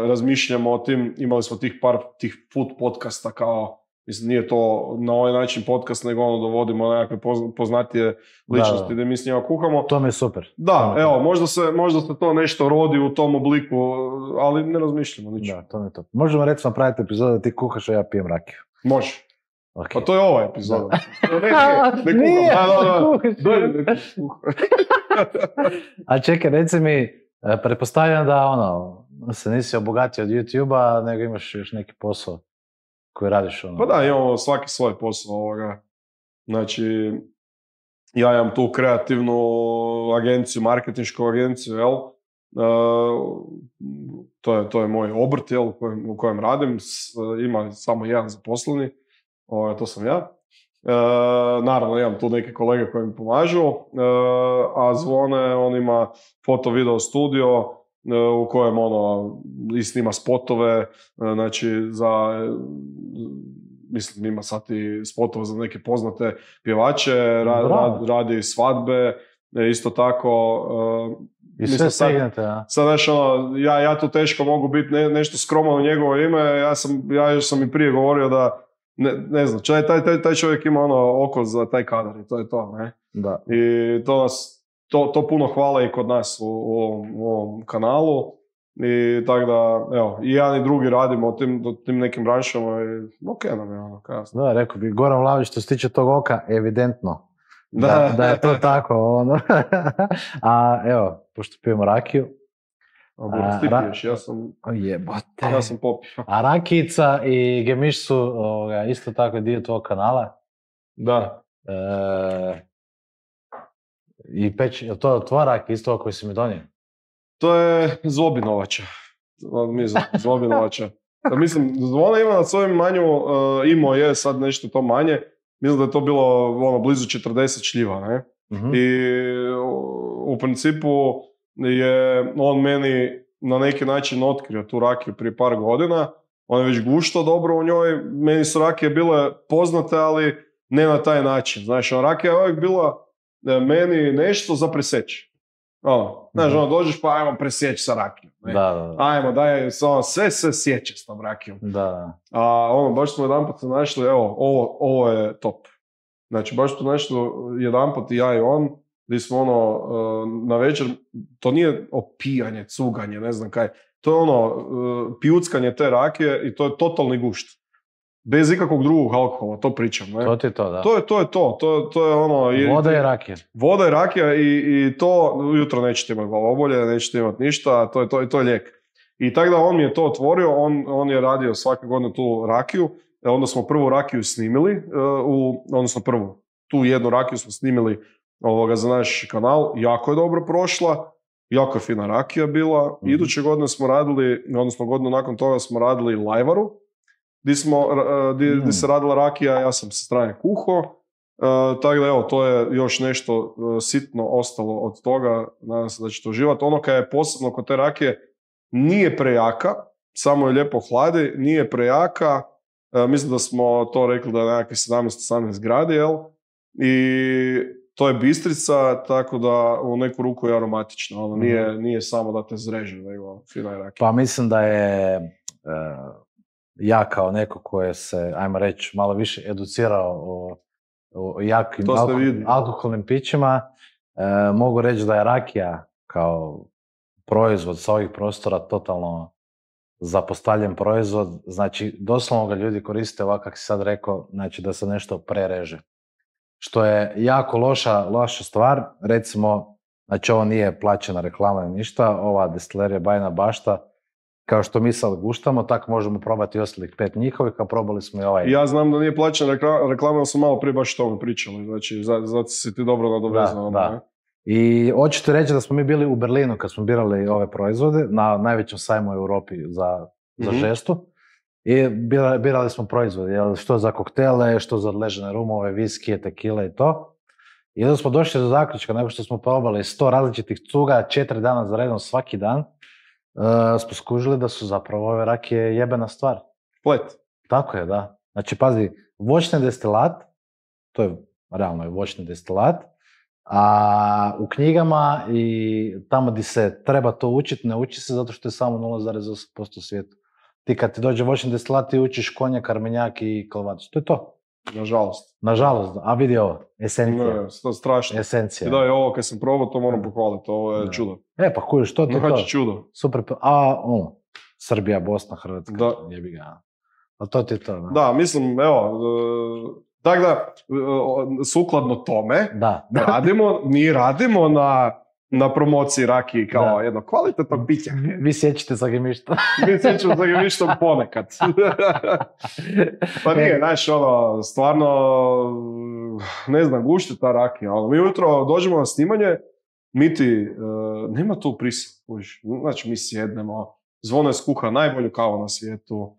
razmišljamo o tim, imali smo tih food podcasta kao, mislim, nije to na ovaj način podcast, nego dovodimo nekakve poznatije ličnosti gdje mi s njima kuhamo. To mi je super. Da, možda se to nešto rodi u tom obliku, ali ne razmišljamo ničemu. Da, to mi je to. Možemo recimo napraviti epizodu da ti kuhaš, a ja pijem rakiju. Može. Okay. Pa to je ova epizoda. Nije, a čekaj, reci mi, pretpostavljam da se nisi obogatio od YouTube-a, nego imaš još neki posao koji radiš. Pa da, imamo svaki svoj posao ovoga. Znači, ja imam tu kreativnu agenciju, marketinšku agenciju, to je moj obrt, u kojem radim, ima samo jedan zaposleni, to sam ja. Naravno, imam tu neke kolege koji mi pomažu, a Zvone, on ima foto-video studio u kojem i snima spotove, znači mislim ima sad i spotove za neke poznate pjevače, radi svadbe, isto tako. I sve stignete, ja? Sad, znaš, ja tu teško mogu biti nešto skroman u njegovo ime, ja sam i prije govorio da ne znam, taj čovjek ima oko za taj kadar i to je to, ne? Da. I to puno hvale i kod nas u ovom kanalu i tako da, evo, i jedan i drugi radimo tim nekim branšama i okej nam je kasno. Da, rekao bi, Goran Vlahović, što se tiče tog oka, evidentno da je to tako. A evo, pošto pijemo rakiju, Ti piješ, ja sam popio. A rakijica i gemiš su isto tako dio tvojeg kanala? Da. I peć, je to tvoja rakija isto koji si mi donio? To je Zlobinovača. Zlobinovača. Da, mislim, ona ima na svojem manju, imao je sad nešto to manje. Mislim da je to bilo blizu 40 šljiva, ne? Mm-hmm. I u principu je on meni na neki način otkrio tu rakiju prije par godina. On je već guštao dobro u njoj. Meni su rakije bile poznate, ali ne na taj način. Znači, rakija je uvijek bila meni nešto za presjeći. Znaš, dođeš pa ajmo presjeći sa rakijom. Da. Ajmo, daj, sve sjeće s tom rakijom. Da. A baš smo jedanput se našli, evo, ovo je top. Znači, baš smo našli jedanput i ja i on, gdje smo na večer, to nije opijanje, cuganje, ne znam kaj, to je pijuckanje te rakije i to je totalni gušt. Bez ikakvog drugog alkohola, to pričam, ne? To ti je to, da. To je Voda i rakija. Voda i rakija i to, ujutro nećete imati glavobolje, nećete imati ništa, to je lijek. I tako da on mi je to otvorio, on je radio svake godine tu rakiju, onda smo prvu rakiju snimili, tu jednu rakiju smo snimili za naš kanal, jako je dobro prošla, jako je fina rakija bila. Mm-hmm. Iduće godine smo radili, odnosno godinu nakon toga smo radili lajvaru, gdje se radila rakija, ja sam sa strane kuho, tako da evo, to je još nešto sitno ostalo od toga, nadam se da ćete uživati. Ono kad je posebno kod te rakije, nije prejaka, samo je lijepo hladi, nije prejaka, mislim da smo to rekli da je nekakve 17-18 gradi, jel? I to je bistrica, tako da u neku ruku je aromatična, nije samo da te zreže, nego fina je rakija. Pa mislim da je ja kao neko koje se, ajmo reći, malo više educirao o jakim alkoholnim pićima, mogu reći da je rakija kao proizvod sa ovih prostora totalno zapostavljen proizvod. Znači, doslovno ga ljudi koriste ovako kako si sad rekao, znači da se nešto prereže. Što je jako loša stvar. Recimo, znači ovo nije plaćena reklama ni ništa, ova destilerija Bajina Bašta, kao što mi sad guštamo, tako možemo probati ostalih 5 njihovih, a probali smo i ovaj. Ja znam da nije plaćena reklama, ali smo malo prije baš o tome pričali, znači zato si ti dobro nadovezao. Da. I hoćete reći da smo mi bili u Berlinu kad smo birali ove proizvode, na najvećem sajmu u Europi za žestu. I birali smo proizvode, što za koktele, što za odležene rumove, viskije, tekile i to. I onda smo došli do zaključka, nakon što smo probali 100 različitih cuga, 4 dana za redom svaki dan, smo skužili da su zapravo ove rakije jebena stvar. Plet. Tako je, da. Znači, pazi, voćni destilat, to je realno voćni destilat, a u knjigama i tamo gdje se treba to učiti, ne uči se zato što je samo 0,8% svijetu. Ti kad ti dođe voćni destilat, ti učiš konjak, armenjak i kalvatić. To je to. Nažalost, a vidi ovo, esencija. Ne, to je strašno. Esencija. I da, ovo kad sam probao, to moram pohvaliti, ovo je čudo. Pa kužiš, to ti je to. Znači čudo. Super, Srbija, Bosna, Hrvatska, jebi ga. Ali to ti je to, da. Da, mislim, evo, tako da, sukladno tome, mi radimo na promociji rakije kao jedno kvalitetno piće. Vi sjećate sa gemištom. Mi sjećamo sa gemištom ponekad. Pa nije, znaš, stvarno, ne znam, gušti ta rakija. Mi ujutro dođemo na snimanje, nema tu prisila. Znači, mi sjednemo, Zvona je skuha najbolju kavu na svijetu,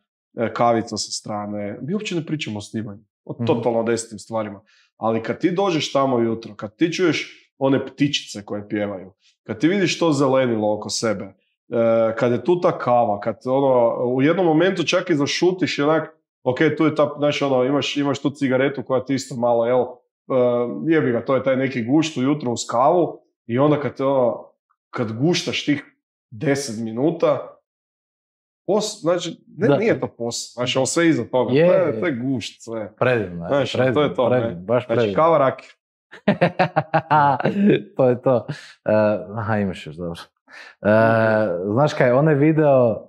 kavica sa strane. Mi uopće ne pričamo o snimanju, o totalno desnim stvarima. Ali kad ti dođeš tamo jutro, kad ti čuješ one ptičice koje pjevaju, kad ti vidiš to zelenilo oko sebe, kad je tu ta kava, kad u jednom momentu čak i zašutiš i onak, ok, tu je ta, znači imaš tu cigaretu koja ti isto malo, jebi ga, to je taj neki gušt ujutro uz kavu i onda kad guštaš tih 10 minuta, znači, nije to posao, znači, ovo sve iza toga, to je gušt, sve. Predivno, znači, to je to, baš predivno. Znači, kava rakija. To je to. Imaš još, dobro. Znaš kaj, onaj video,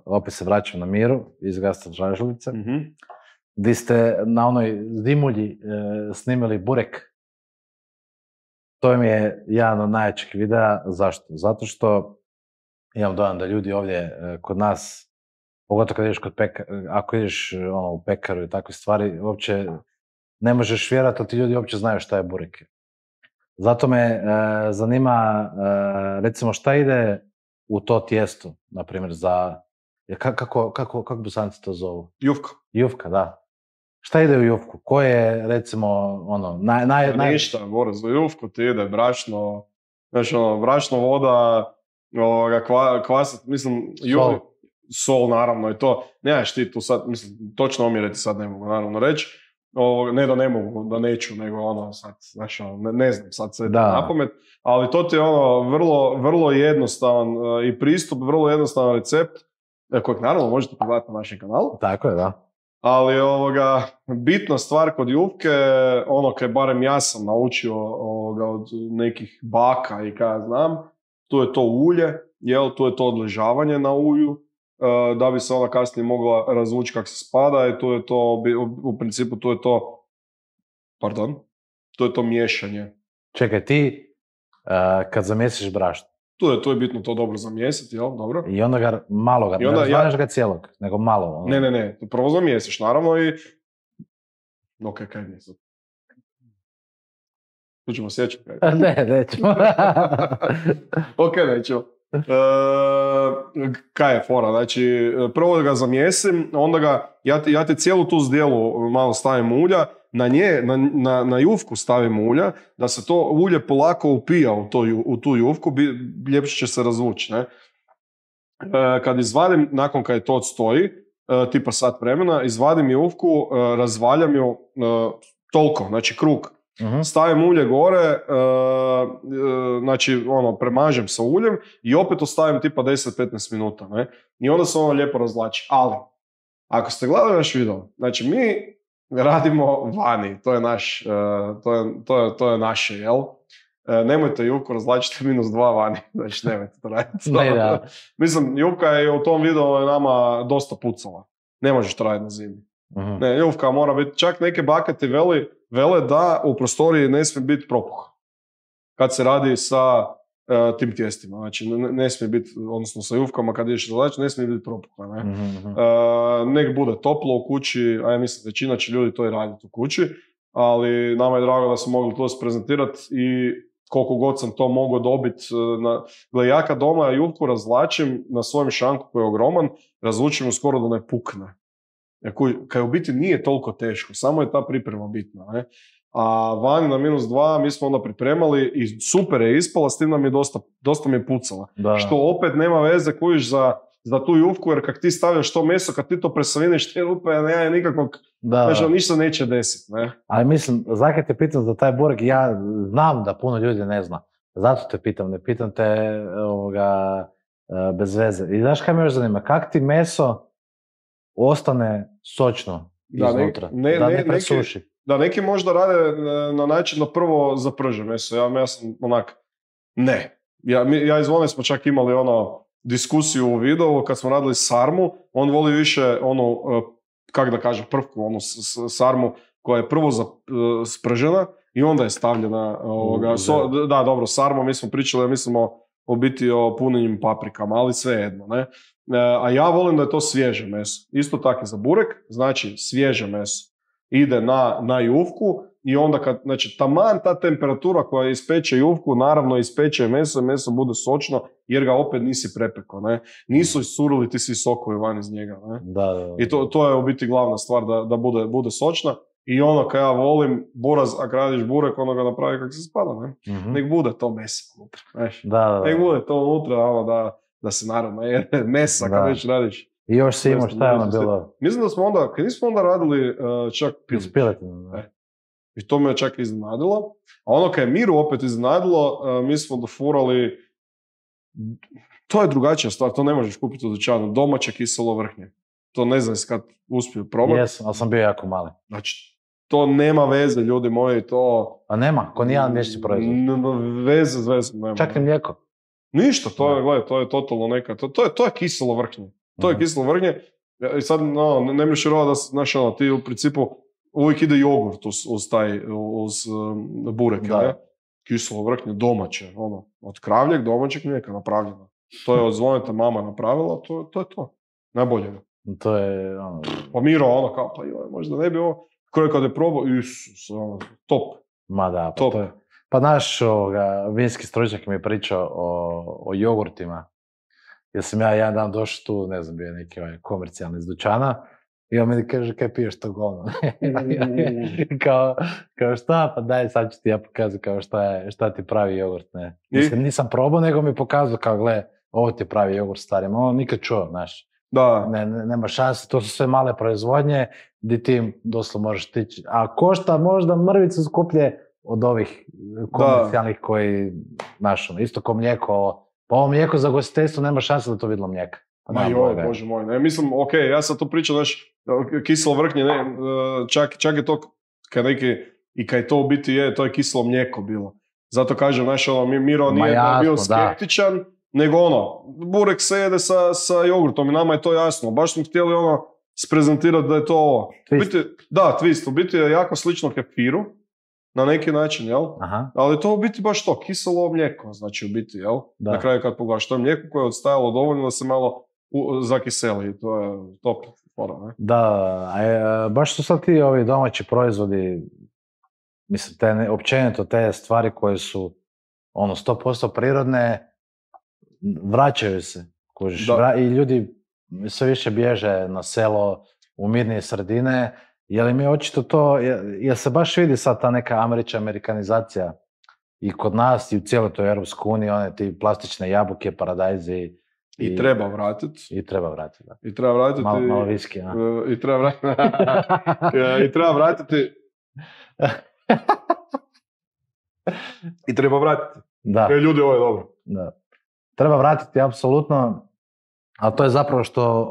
opet se vraćam na Miru, iz Gasta Žažulice, gdje ste na onoj zimulji snimili burek. To mi je jedan od najjačih videa. Zašto? Zato što Imam dojam da ljudi ovdje kod nas, pogotovo kad ideš ako ideš u pekaru i takve stvari, uopće ne možeš vjerati da ti ljudi uopće znaju šta je burek. Zato me zanima, recimo, šta ide u to tijesto, na primjer, za... Kako Bosanci to zovu? Jufka. Jufka, da. Šta ide u jufku? Ko je, recimo, Ništa, za jufku ti ide brašno, znači brašno, voda, kvas, mislim, sol naravno i to. Nemaš ti tu sad, mislim, točno omjeriti sad ne mogu naravno reći. Ne da ne mogu, da neću, nego sad, znači ne znam sad sve na pamet, ali to ti je vrlo jednostavan i pristup, vrlo jednostavan recept, kojeg naravno možete pogledati na našem kanalu. Tako je, da. Ali bitna stvar kod jufke, kaj barem ja sam naučio od nekih baka i kada znam, tu je to ulje, tu je to odležavanje na ulju, da bi se ona kasnije mogla razvući kako se spada i tu je to, u principu tu je to miješanje. Čekaj, ti kad zamjesiš brašno, tu je bitno to dobro zamjesiti, jel? Dobro. I onda ga malo ne razvaneš ga cijelog, nego malo. Ne, prvo zamjesiš, naravno, i... Ok, kaj nije sad? Tu ćemo sjeći. Ne, nećemo. Ok, nećemo. Kaj je fora? Znači, prvo ga zamjesim, onda ga, ja ti cijelu tu zdjelu malo stavim ulja, na jufku stavim ulja, da se to ulje polako upija u tu jufku, ljepše će se razvući, ne? Kad izvadim, nakon kad je to odstoji, tipa sat vremena, izvadim jufku, razvaljam ju toliko, znači krug. Stavim ulje gore, znači premažem sa uljem i opet ostavim tipa 10-15 minuta, ne? I onda se ono lijepo razvlači. Ali, ako ste gledali naš video, znači mi radimo vani, to je naš, to je naše, jel? Nemojte jufku razvlačiti -2 vani, znači nemojte to raditi. Mislim, jufka je u tom videu nama dosta pucala. Ne možeš to raditi na zimi. Ne, jufka mora biti, čak neke bakati vele da u prostoriji ne smije biti propuh. Kad se radi sa tim tijestima, znači ne smije biti, odnosno sa jufkama kad ideš razvlačiti, ne smije biti propuha. Ne? Nek bude toplo u kući, a ja mislim većina će ljudi to i raditi u kući, ali nama je drago da smo mogli to prezentirati i koliko god sam to mogao dobiti. Ja kad doma jufku razvlačim na svojem šanku koji je ogroman, razvučim ju skoro da ne pukne. Kaj u biti nije toliko teško, samo je ta priprema bitna. Ne? A vani na -2 mi smo onda pripremali i super je ispala, s tim nam je dosta mi je pucala. Da. Što opet nema veze kojiš za tu jufku, jer kak ti stavljaš to meso, kad ti to presaviniš, te rupe, nema nikakvog, znači ništa neće desiti. Ne? Ali mislim, zakaj te pitam za taj burek, ja znam da puno ljudi ne zna, zato te pitam, ne pitam te bez veze. I znaš kaj me još zanima, kak ti meso ostane sočno iznutra, da ne presuši? Neki možda rade na način da prvo zaprže meso. Ja sam onak, ne. Ja izvone smo čak imali diskusiju u videu kad smo radili sarmu. On voli više kak da kažem, prvku, sarmu koja je prvo spržena i onda je stavljena da, dobro, sarma, mi smo pričali, mislimo u biti o punjenim paprikama, ali svejedno, ne. A ja volim da je to svježe meso. Isto tako za burek, znači svježe meso ide na jufku i onda kad, znači taman ta temperatura koja ispeče jufku, naravno ispeče meso bude sočno jer ga opet nisi prepekao, ne. Nisu isurili ti svi sokovi van iz njega, ne. Da. I to je u biti glavna stvar, da bude sočna. I kad ja volim buraz, ako radiš burek, ono ga napravi kako se spada, ne. Nek bude to meso unutra, znaš. Nek bude to unutra, da se naravno jede mesa kad već radiš. I još si imao šta je ono bilo? Mislim da smo onda, kad nismo onda radili čak piletinu. I to me je čak iznenadilo. A kad je Miru opet iznenadilo, mi smo dofurali, to je drugačija stvar, to ne možeš kupiti u dućanu, domaće kiselo vrhnje. To ne znam kad uspiju probati. Jesam, ali sam bio jako mali. Znači, to nema veze, ljudi moji, to... A nema, ko nijedan mješći proizvod. Veze nema. Čak ni mlijeko. Ništa, to je totalno neka, to je kiselo vrhnje. To je kiselo vrhnje. I sad, ne možeš vjerovati da, znaš, ti u principu uvijek ide jogurt uz burek, ne? Kiselo vrhnje, domaće, od kravljeg domaćeg mlijeka napravljeno. To je od Zvoneta mama napravila, to je to. Najbolje. To je, Pa Miro, ono kao, pa joj, možda ne bi ovo, kad je probao, Isus, top. Ma da, pa top. to je. Pa naš vinski stručnjak mi je pričao o jogurtima. Jer sam ja jedan dan došao tu, ne znam, bio neki komercijalni iz dućana, i on meni kaže, kaj piješ to govno? kao šta, pa daj, sad ću ti ja pokazati kao šta ti pravi jogurt, ne. Mislim, nisam probao, nego mi pokazao kao, gle, ovo ti pravi jogurt starim, ovo nikad čuo, znaš. Da. Nema šanse, to su sve male proizvodnje, gdje ti doslovno možeš tići, a košta možda mrvicu skuplje od ovih komercijalnih koji, znaš, isto ko mlijeko, pa ovo mlijeko za gostiteljstvo nema šanse da to vidlo mlijeka. Ma joj, bože moj, ne, mislim, okej, ja sam tu pričao, znaš, kiselo vrhnje, ne, čak je to, kad je to u biti je, to je kiselo mlijeko bilo. Zato kažem, znaš, Miro nije bio skeptičan, nego burek se jede sa jogurtom i nama je to jasno. Baš smo htjeli sprezentirati da je to ovo. Twist, u biti je jako slično kefiru, na neki način, jel? Aha. Ali to u biti baš to, kiselo mlijeko, znači u biti, jel? Da. Na kraju kad pogledaš, to je mlijeko koje je odstajalo dovoljno da se malo zakiseli, to je top. Ne? Da, baš su sad ti ovi domaći proizvodi, mislim, općenito te stvari koje su 100% prirodne, vraćaju se, kužiš, i ljudi sve više bježe na selo, u mirnije sredine, jer mi očito to, jer se baš vidi sad ta neka amerikanizacija i kod nas i u cijeloj toj Europskoj uniji, one ti plastične jabuke, paradajzi. I treba vratiti. I treba vratiti, da. I treba vratiti. Malo viski, a? I treba vratiti. I treba vratiti. I treba vratiti. Da. Ljudi, ovo je dobro. Da. Treba vratiti, apsolutno. Ali to je zapravo što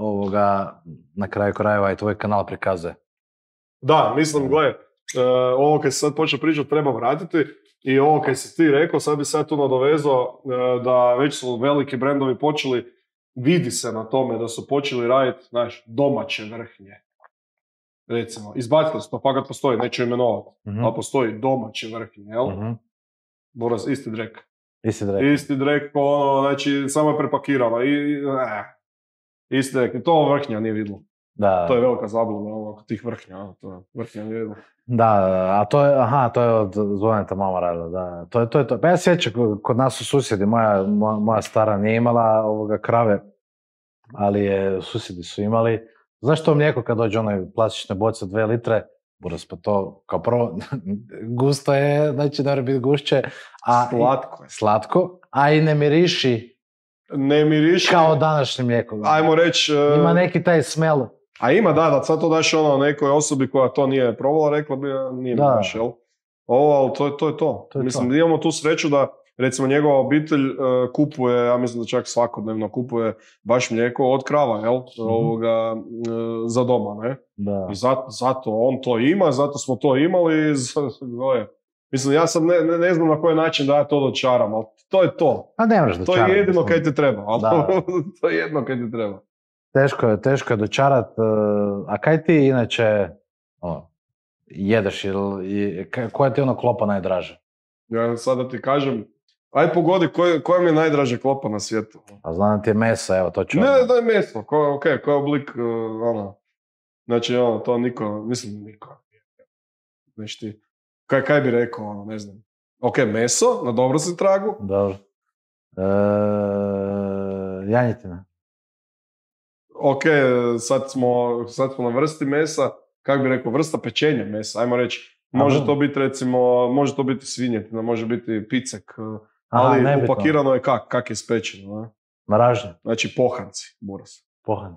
na kraju krajeva i tvoj kanal prikazuje. Da, mislim, gle, ovo kad se sad počeo pričati treba vratiti i ovo kad si ti rekao, sad bi sad tu nadovezao da već su veliki brendovi počeli, vidi se na tome da su počeli raditi, znaš, domaće vrhnje. Recimo, izbacili su to, pa kad postoji, neću imenovati, ali postoji domaće vrhnje, jel? Boras, isti drek. Isti drek, znači, samo je prepakirano isti drek, to vrhnja nije vidlo. Da. To je velika zabluda tih vrhnja, to vrhnja nije vidlo. Da, a to je od Zvoneta mama radila, da. To je to. Pa ja sjećam, kod nas su susjedi, moja stara nije imala krave, ali susjedi su imali. Znaš to mlijeko kad dođe onoj plastične boce 2 litre, Boras, pa to kao prvo gusto je, znači ne mora biti gušće. Slatko je. Slatko, a i ne miriši. Ne miriši. Kao današnje mlijeko. Ajmo reći. Ima neki taj smell. A ima, da, sad to daš nekoj osobi koja to nije probala, rekla bi, nije baš, jel? Ali to je to. Mislim, imamo tu sreću da, recimo, njegova obitelj kupuje, ja mislim da čak svakodnevno kupuje baš mlijeko od krava, jel? Za doma, ne? Da. I zato on to ima, zato smo to imali, mislim, ja sam ne znam na koji način da ja to dočaram, ali to je to. A ne možeš dočaram. To je jedino kaj ti treba, ali to je jedno kaj ti treba. Teško je dočarat, a kaj ti inače jedeš ili koja ti klopa najdraže? Ja sad da ti kažem, aj pogodi koja mi je najdraže klopa na svijetu. A znam da ti je meso, evo to ću. Ne, da je meso, koji je oblik, znači to niko, mislim niko. Znači ti, kaj bi rekao, ne znam. Ok, meso, na dobro si tragu. Dobro. Janjetina. Ok, sad smo na vrsti mesa, kako bi rekao, vrsta pečenja mesa, ajmo reći. Može to biti, recimo, može to biti svinjetina, može biti picek, ali upakirano je kak je spečeno. Ne? Mražnje. Znači pohanci, Boras.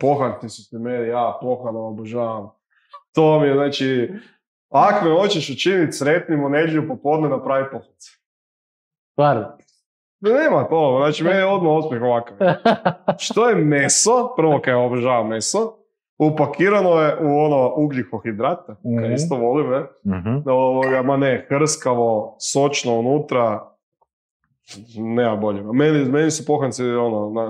Pohanci su ti meni, ja pohana obožavam. To mi je, znači, ako me hoćeš učiniti sretnim u nedjelju popodne, napravi pohance. Stvarno? Nema to, znači meni je odmah osmijeh ovakav. Što je meso, prvo kaj obožavam meso, upakirano je u ugljikohidrate, kaj isto volim, ne? Ma ne, hrskavo, sočno unutra, nema bolje. Meni su pohanci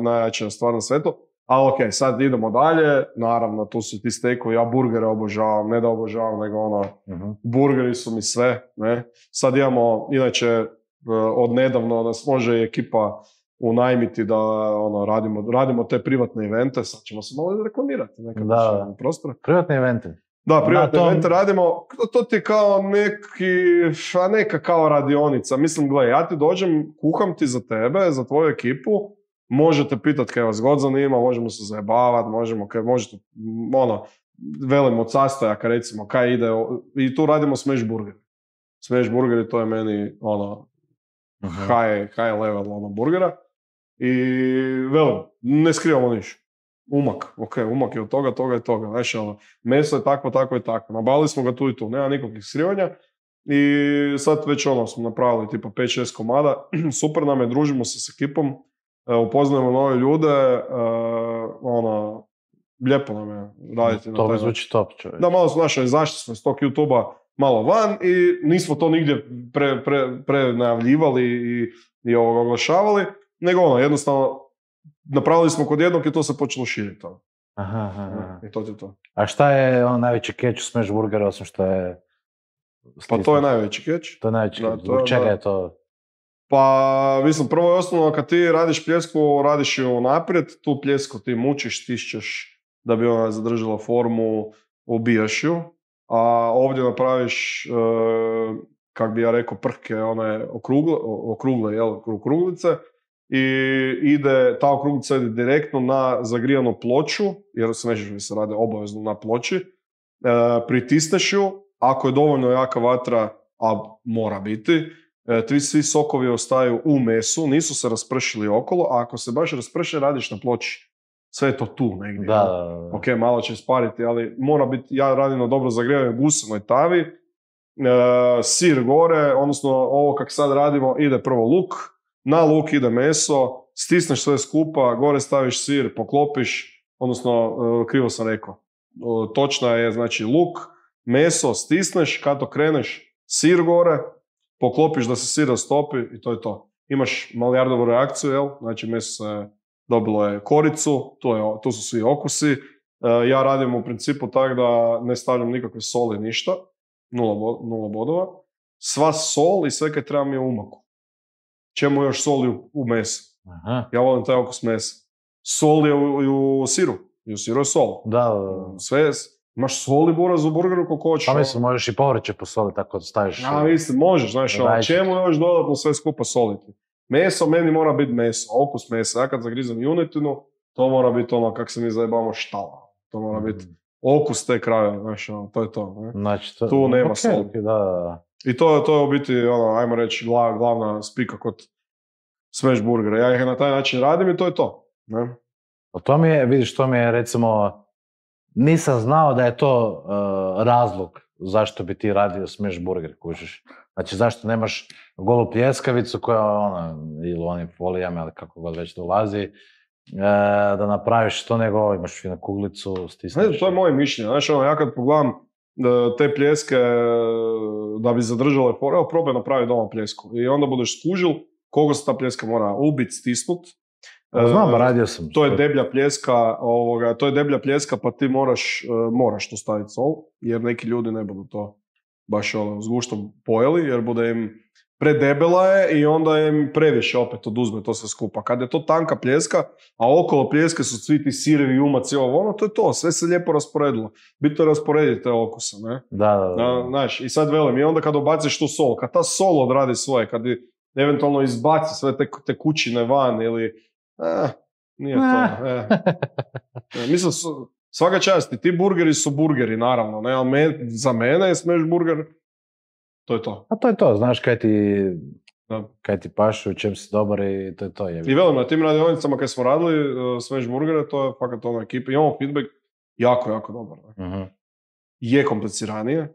najjačija stvar na svetu, ali ok, sad idemo dalje, naravno tu su ti stekovi, ja burgere obožavam, ne da obožavam, nego burgeri su mi sve, ne? Sad imamo, inače, od nedavno nas može ekipa unajmiti da radimo te privatne evente, sad ćemo se malo reklamirati nekada prostora. Privatne evente. Da, privatne evente radimo, to ti je kao neka kao radionica. Mislim, gledaj, ja ti dođem, kuham ti za tebe, za tvoju ekipu, možete pitati kaj vas god zanima, možemo se zajebavati, možete, velim od sastojaka, recimo, kaj ide, i tu radimo smash burger. Smash burger, to je meni, high level, burgera. I, velim, ne skrivamo ništa. Umak je od toga i toga. Znači, meso je takvo i takvo. Nabavili smo ga tu i tu, nema nikakvih skrivanja. I sad već smo napravili tipa 5-6 komada. Super nam je, družimo se s ekipom, upoznajemo nove ljude, lijepo nam je raditi. To bi zvuči top, čovjek. Da, malo smo izašli smo iz tog YouTube-a malo van i nismo to nigdje prenajavljivali i oglašavali, nego jednostavno napravili smo kod jednog i to se počelo širiti. Aha. I to je to. A šta je najveći catch u smash burgeru, osim što je... Pa to je najveći catch. To je najveći catch. Zbog čega je to? Pa, mislim, prvo i osnovno, kad ti radiš pljesku, radiš ju naprijed, tu pljesku ti mučiš, stišćeš da bi ona zadržala formu, ubijaš ju, a ovdje napraviš, kak bi ja rekao, prhke, one okruglice, i ta okruglica ide direktno na zagrijanu ploču, jer se radi obavezno na ploči, pritisneš ju, ako je dovoljno jaka vatra, a mora biti, svi sokovi ostaju u mesu, nisu se raspršili okolo, a ako se baš rasprše, radiš na ploči. Sve je to tu negdje. Da. Ok, malo će spariti, ali mora biti, ja radim na dobro zagrijevanoj gusenoj tavi, sir gore, odnosno ovo kak sad radimo, ide prvo luk, na luk ide meso, stisneš sve skupa, gore staviš sir, poklopiš, odnosno, krivo sam rekao, točna je, znači, luk, meso, stisneš, kad to sir gore, poklopiš da se sir rastopi i to je to. Imaš milijardovu reakciju, jel? Znači, meso dobilo je koricu, tu su svi okusi. Ja radim u principu tako da ne stavljam nikakve soli, ništa, nula bodova. Sva sol i sve kaj treba mi je u umaku. Čemu još soli u mesu? Aha. Ja volim taj okus mesa. Sol je u siru. I u siru je sol. Da. Sve je, imaš soli buraz u burgeru koliko hoćeš. Pa mislim, možeš i povrće posoliti tako da staviš. Ja, mislim, možeš, znaš, čemu još dodatno sve skupa soliti? Meso meni mora biti meso, okus mesa. Ja kad zagrizam junetinu, to mora biti kak se mi zajebamo, štala. To mora biti okus te kraja, znaš, to je to. Ne? Znači, tu nema soli. Da. I to je u biti, ajmo reći, glavna spika kod smash burgera. Ja ih na taj način radim i to je to. Ne? To mi je, recimo, nisam znao da je to razlog zašto bi ti radio smash burger, kužiš. Znači, zašto nemaš golu pljeskavicu koja ili onim folijama, ali kako god već dolazi, da napraviš to, nego imaš finu kuglicu, stisneš. To je moje mišljenje. Znači, ja kad pogledam te pljeske da bi zadržale formu, evo probaj napraviti doma pljesku. I onda budeš skužil koliko se ta pljeska mora ubiti, stisnut. Znam, radio sam. To je deblja pljeska, pa ti moraš tu staviti sol, jer neki ljudi ne budu to baš s guštom pojeli, jer bude im predebela je i onda im previše opet oduzme to sve skupa. Kad je to tanka pljeska, a okolo pljeske su svi ti sirevi, umaci, to je to, sve se lijepo rasporedilo. Bitno je rasporediti te okuse, ne? Da. Znaš, i sad velim, i onda kad obaciš tu sol, kad ta sol odradi svoje, kad eventualno izbaci sve te kućine van ili nije to. Mislim, svaka čast, ti burgeri su burgeri, naravno, ne, ali za mene je smash burger, to je to. A to je to, znaš kaj ti paše, u čem si dobar i to je to. I velim, na tim radionicama kad smo radili smash burgere, to je fakat ekipa, imamo feedback jako, jako dobar. Uh-huh. Je kompliciranije,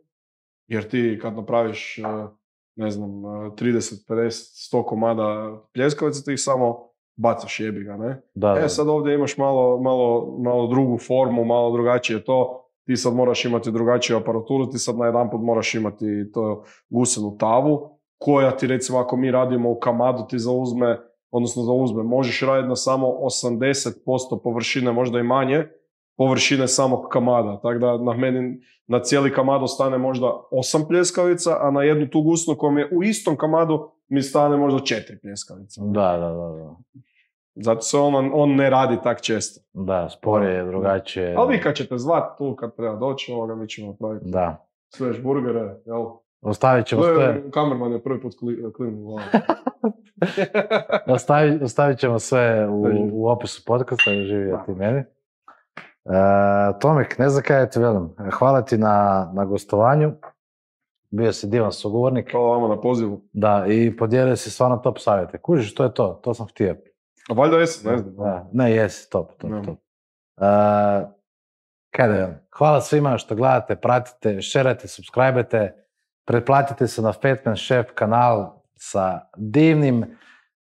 jer ti kad napraviš, 30, 50, 100 komada pljeskavica, ti ih samo bacaš, jebi ga, ne? Da. Sad ovdje imaš malo drugu formu, malo drugačije to, ti sad moraš imati drugačiju aparaturu, ti sad najedanput moraš imati to gusenu tavu, koja ti, recimo, ako mi radimo u kamadu, ti zauzme, možeš raditi na samo 80% površine, možda i manje, površine samog kamada, tako da na meni na cijeli kamad ostane možda 8 pljeskavica, a na jednu tu gusnu koja mi je u istom kamadu mi stane možda 4 pljeskavice. Da. Zato se on ne radi tak često. Da, sporije je drugačije. Ali vi kad ćete zvati tu, kad treba doći, mi ćemo napraviti. Da. Svež burgere, jel? Ostavit ćemo sve... Kamerman je prvi put klinu. Ostavit ćemo sve u opisu podcasta, živio ti meni. Tomek, ne znam kaj ti velim. Hvala ti na gostovanju. Bio si divan sugovornik. Hvala vama na pozivu. Da, i podijelio si stvarno top savjete. Kužiš, to je to. To sam htio. A valjda jesi, ne znam. Ne, jesi, top. Kaj da velim. Hvala svima što gledate, pratite, šerajte, subscribe-te. Pretplatite se na Fatman Chef kanal sa divnim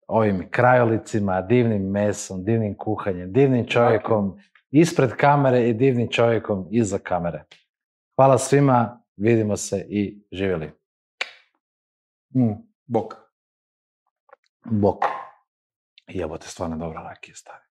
ovim krajolicima, divnim mesom, divnim kuhanjem, divnim čovjekom ispred kamere i divnim čovjekom iza kamere. Hvala svima, vidimo se i živjeli. Bok. Bok. Jebote, stvarno dobra rakija stavi.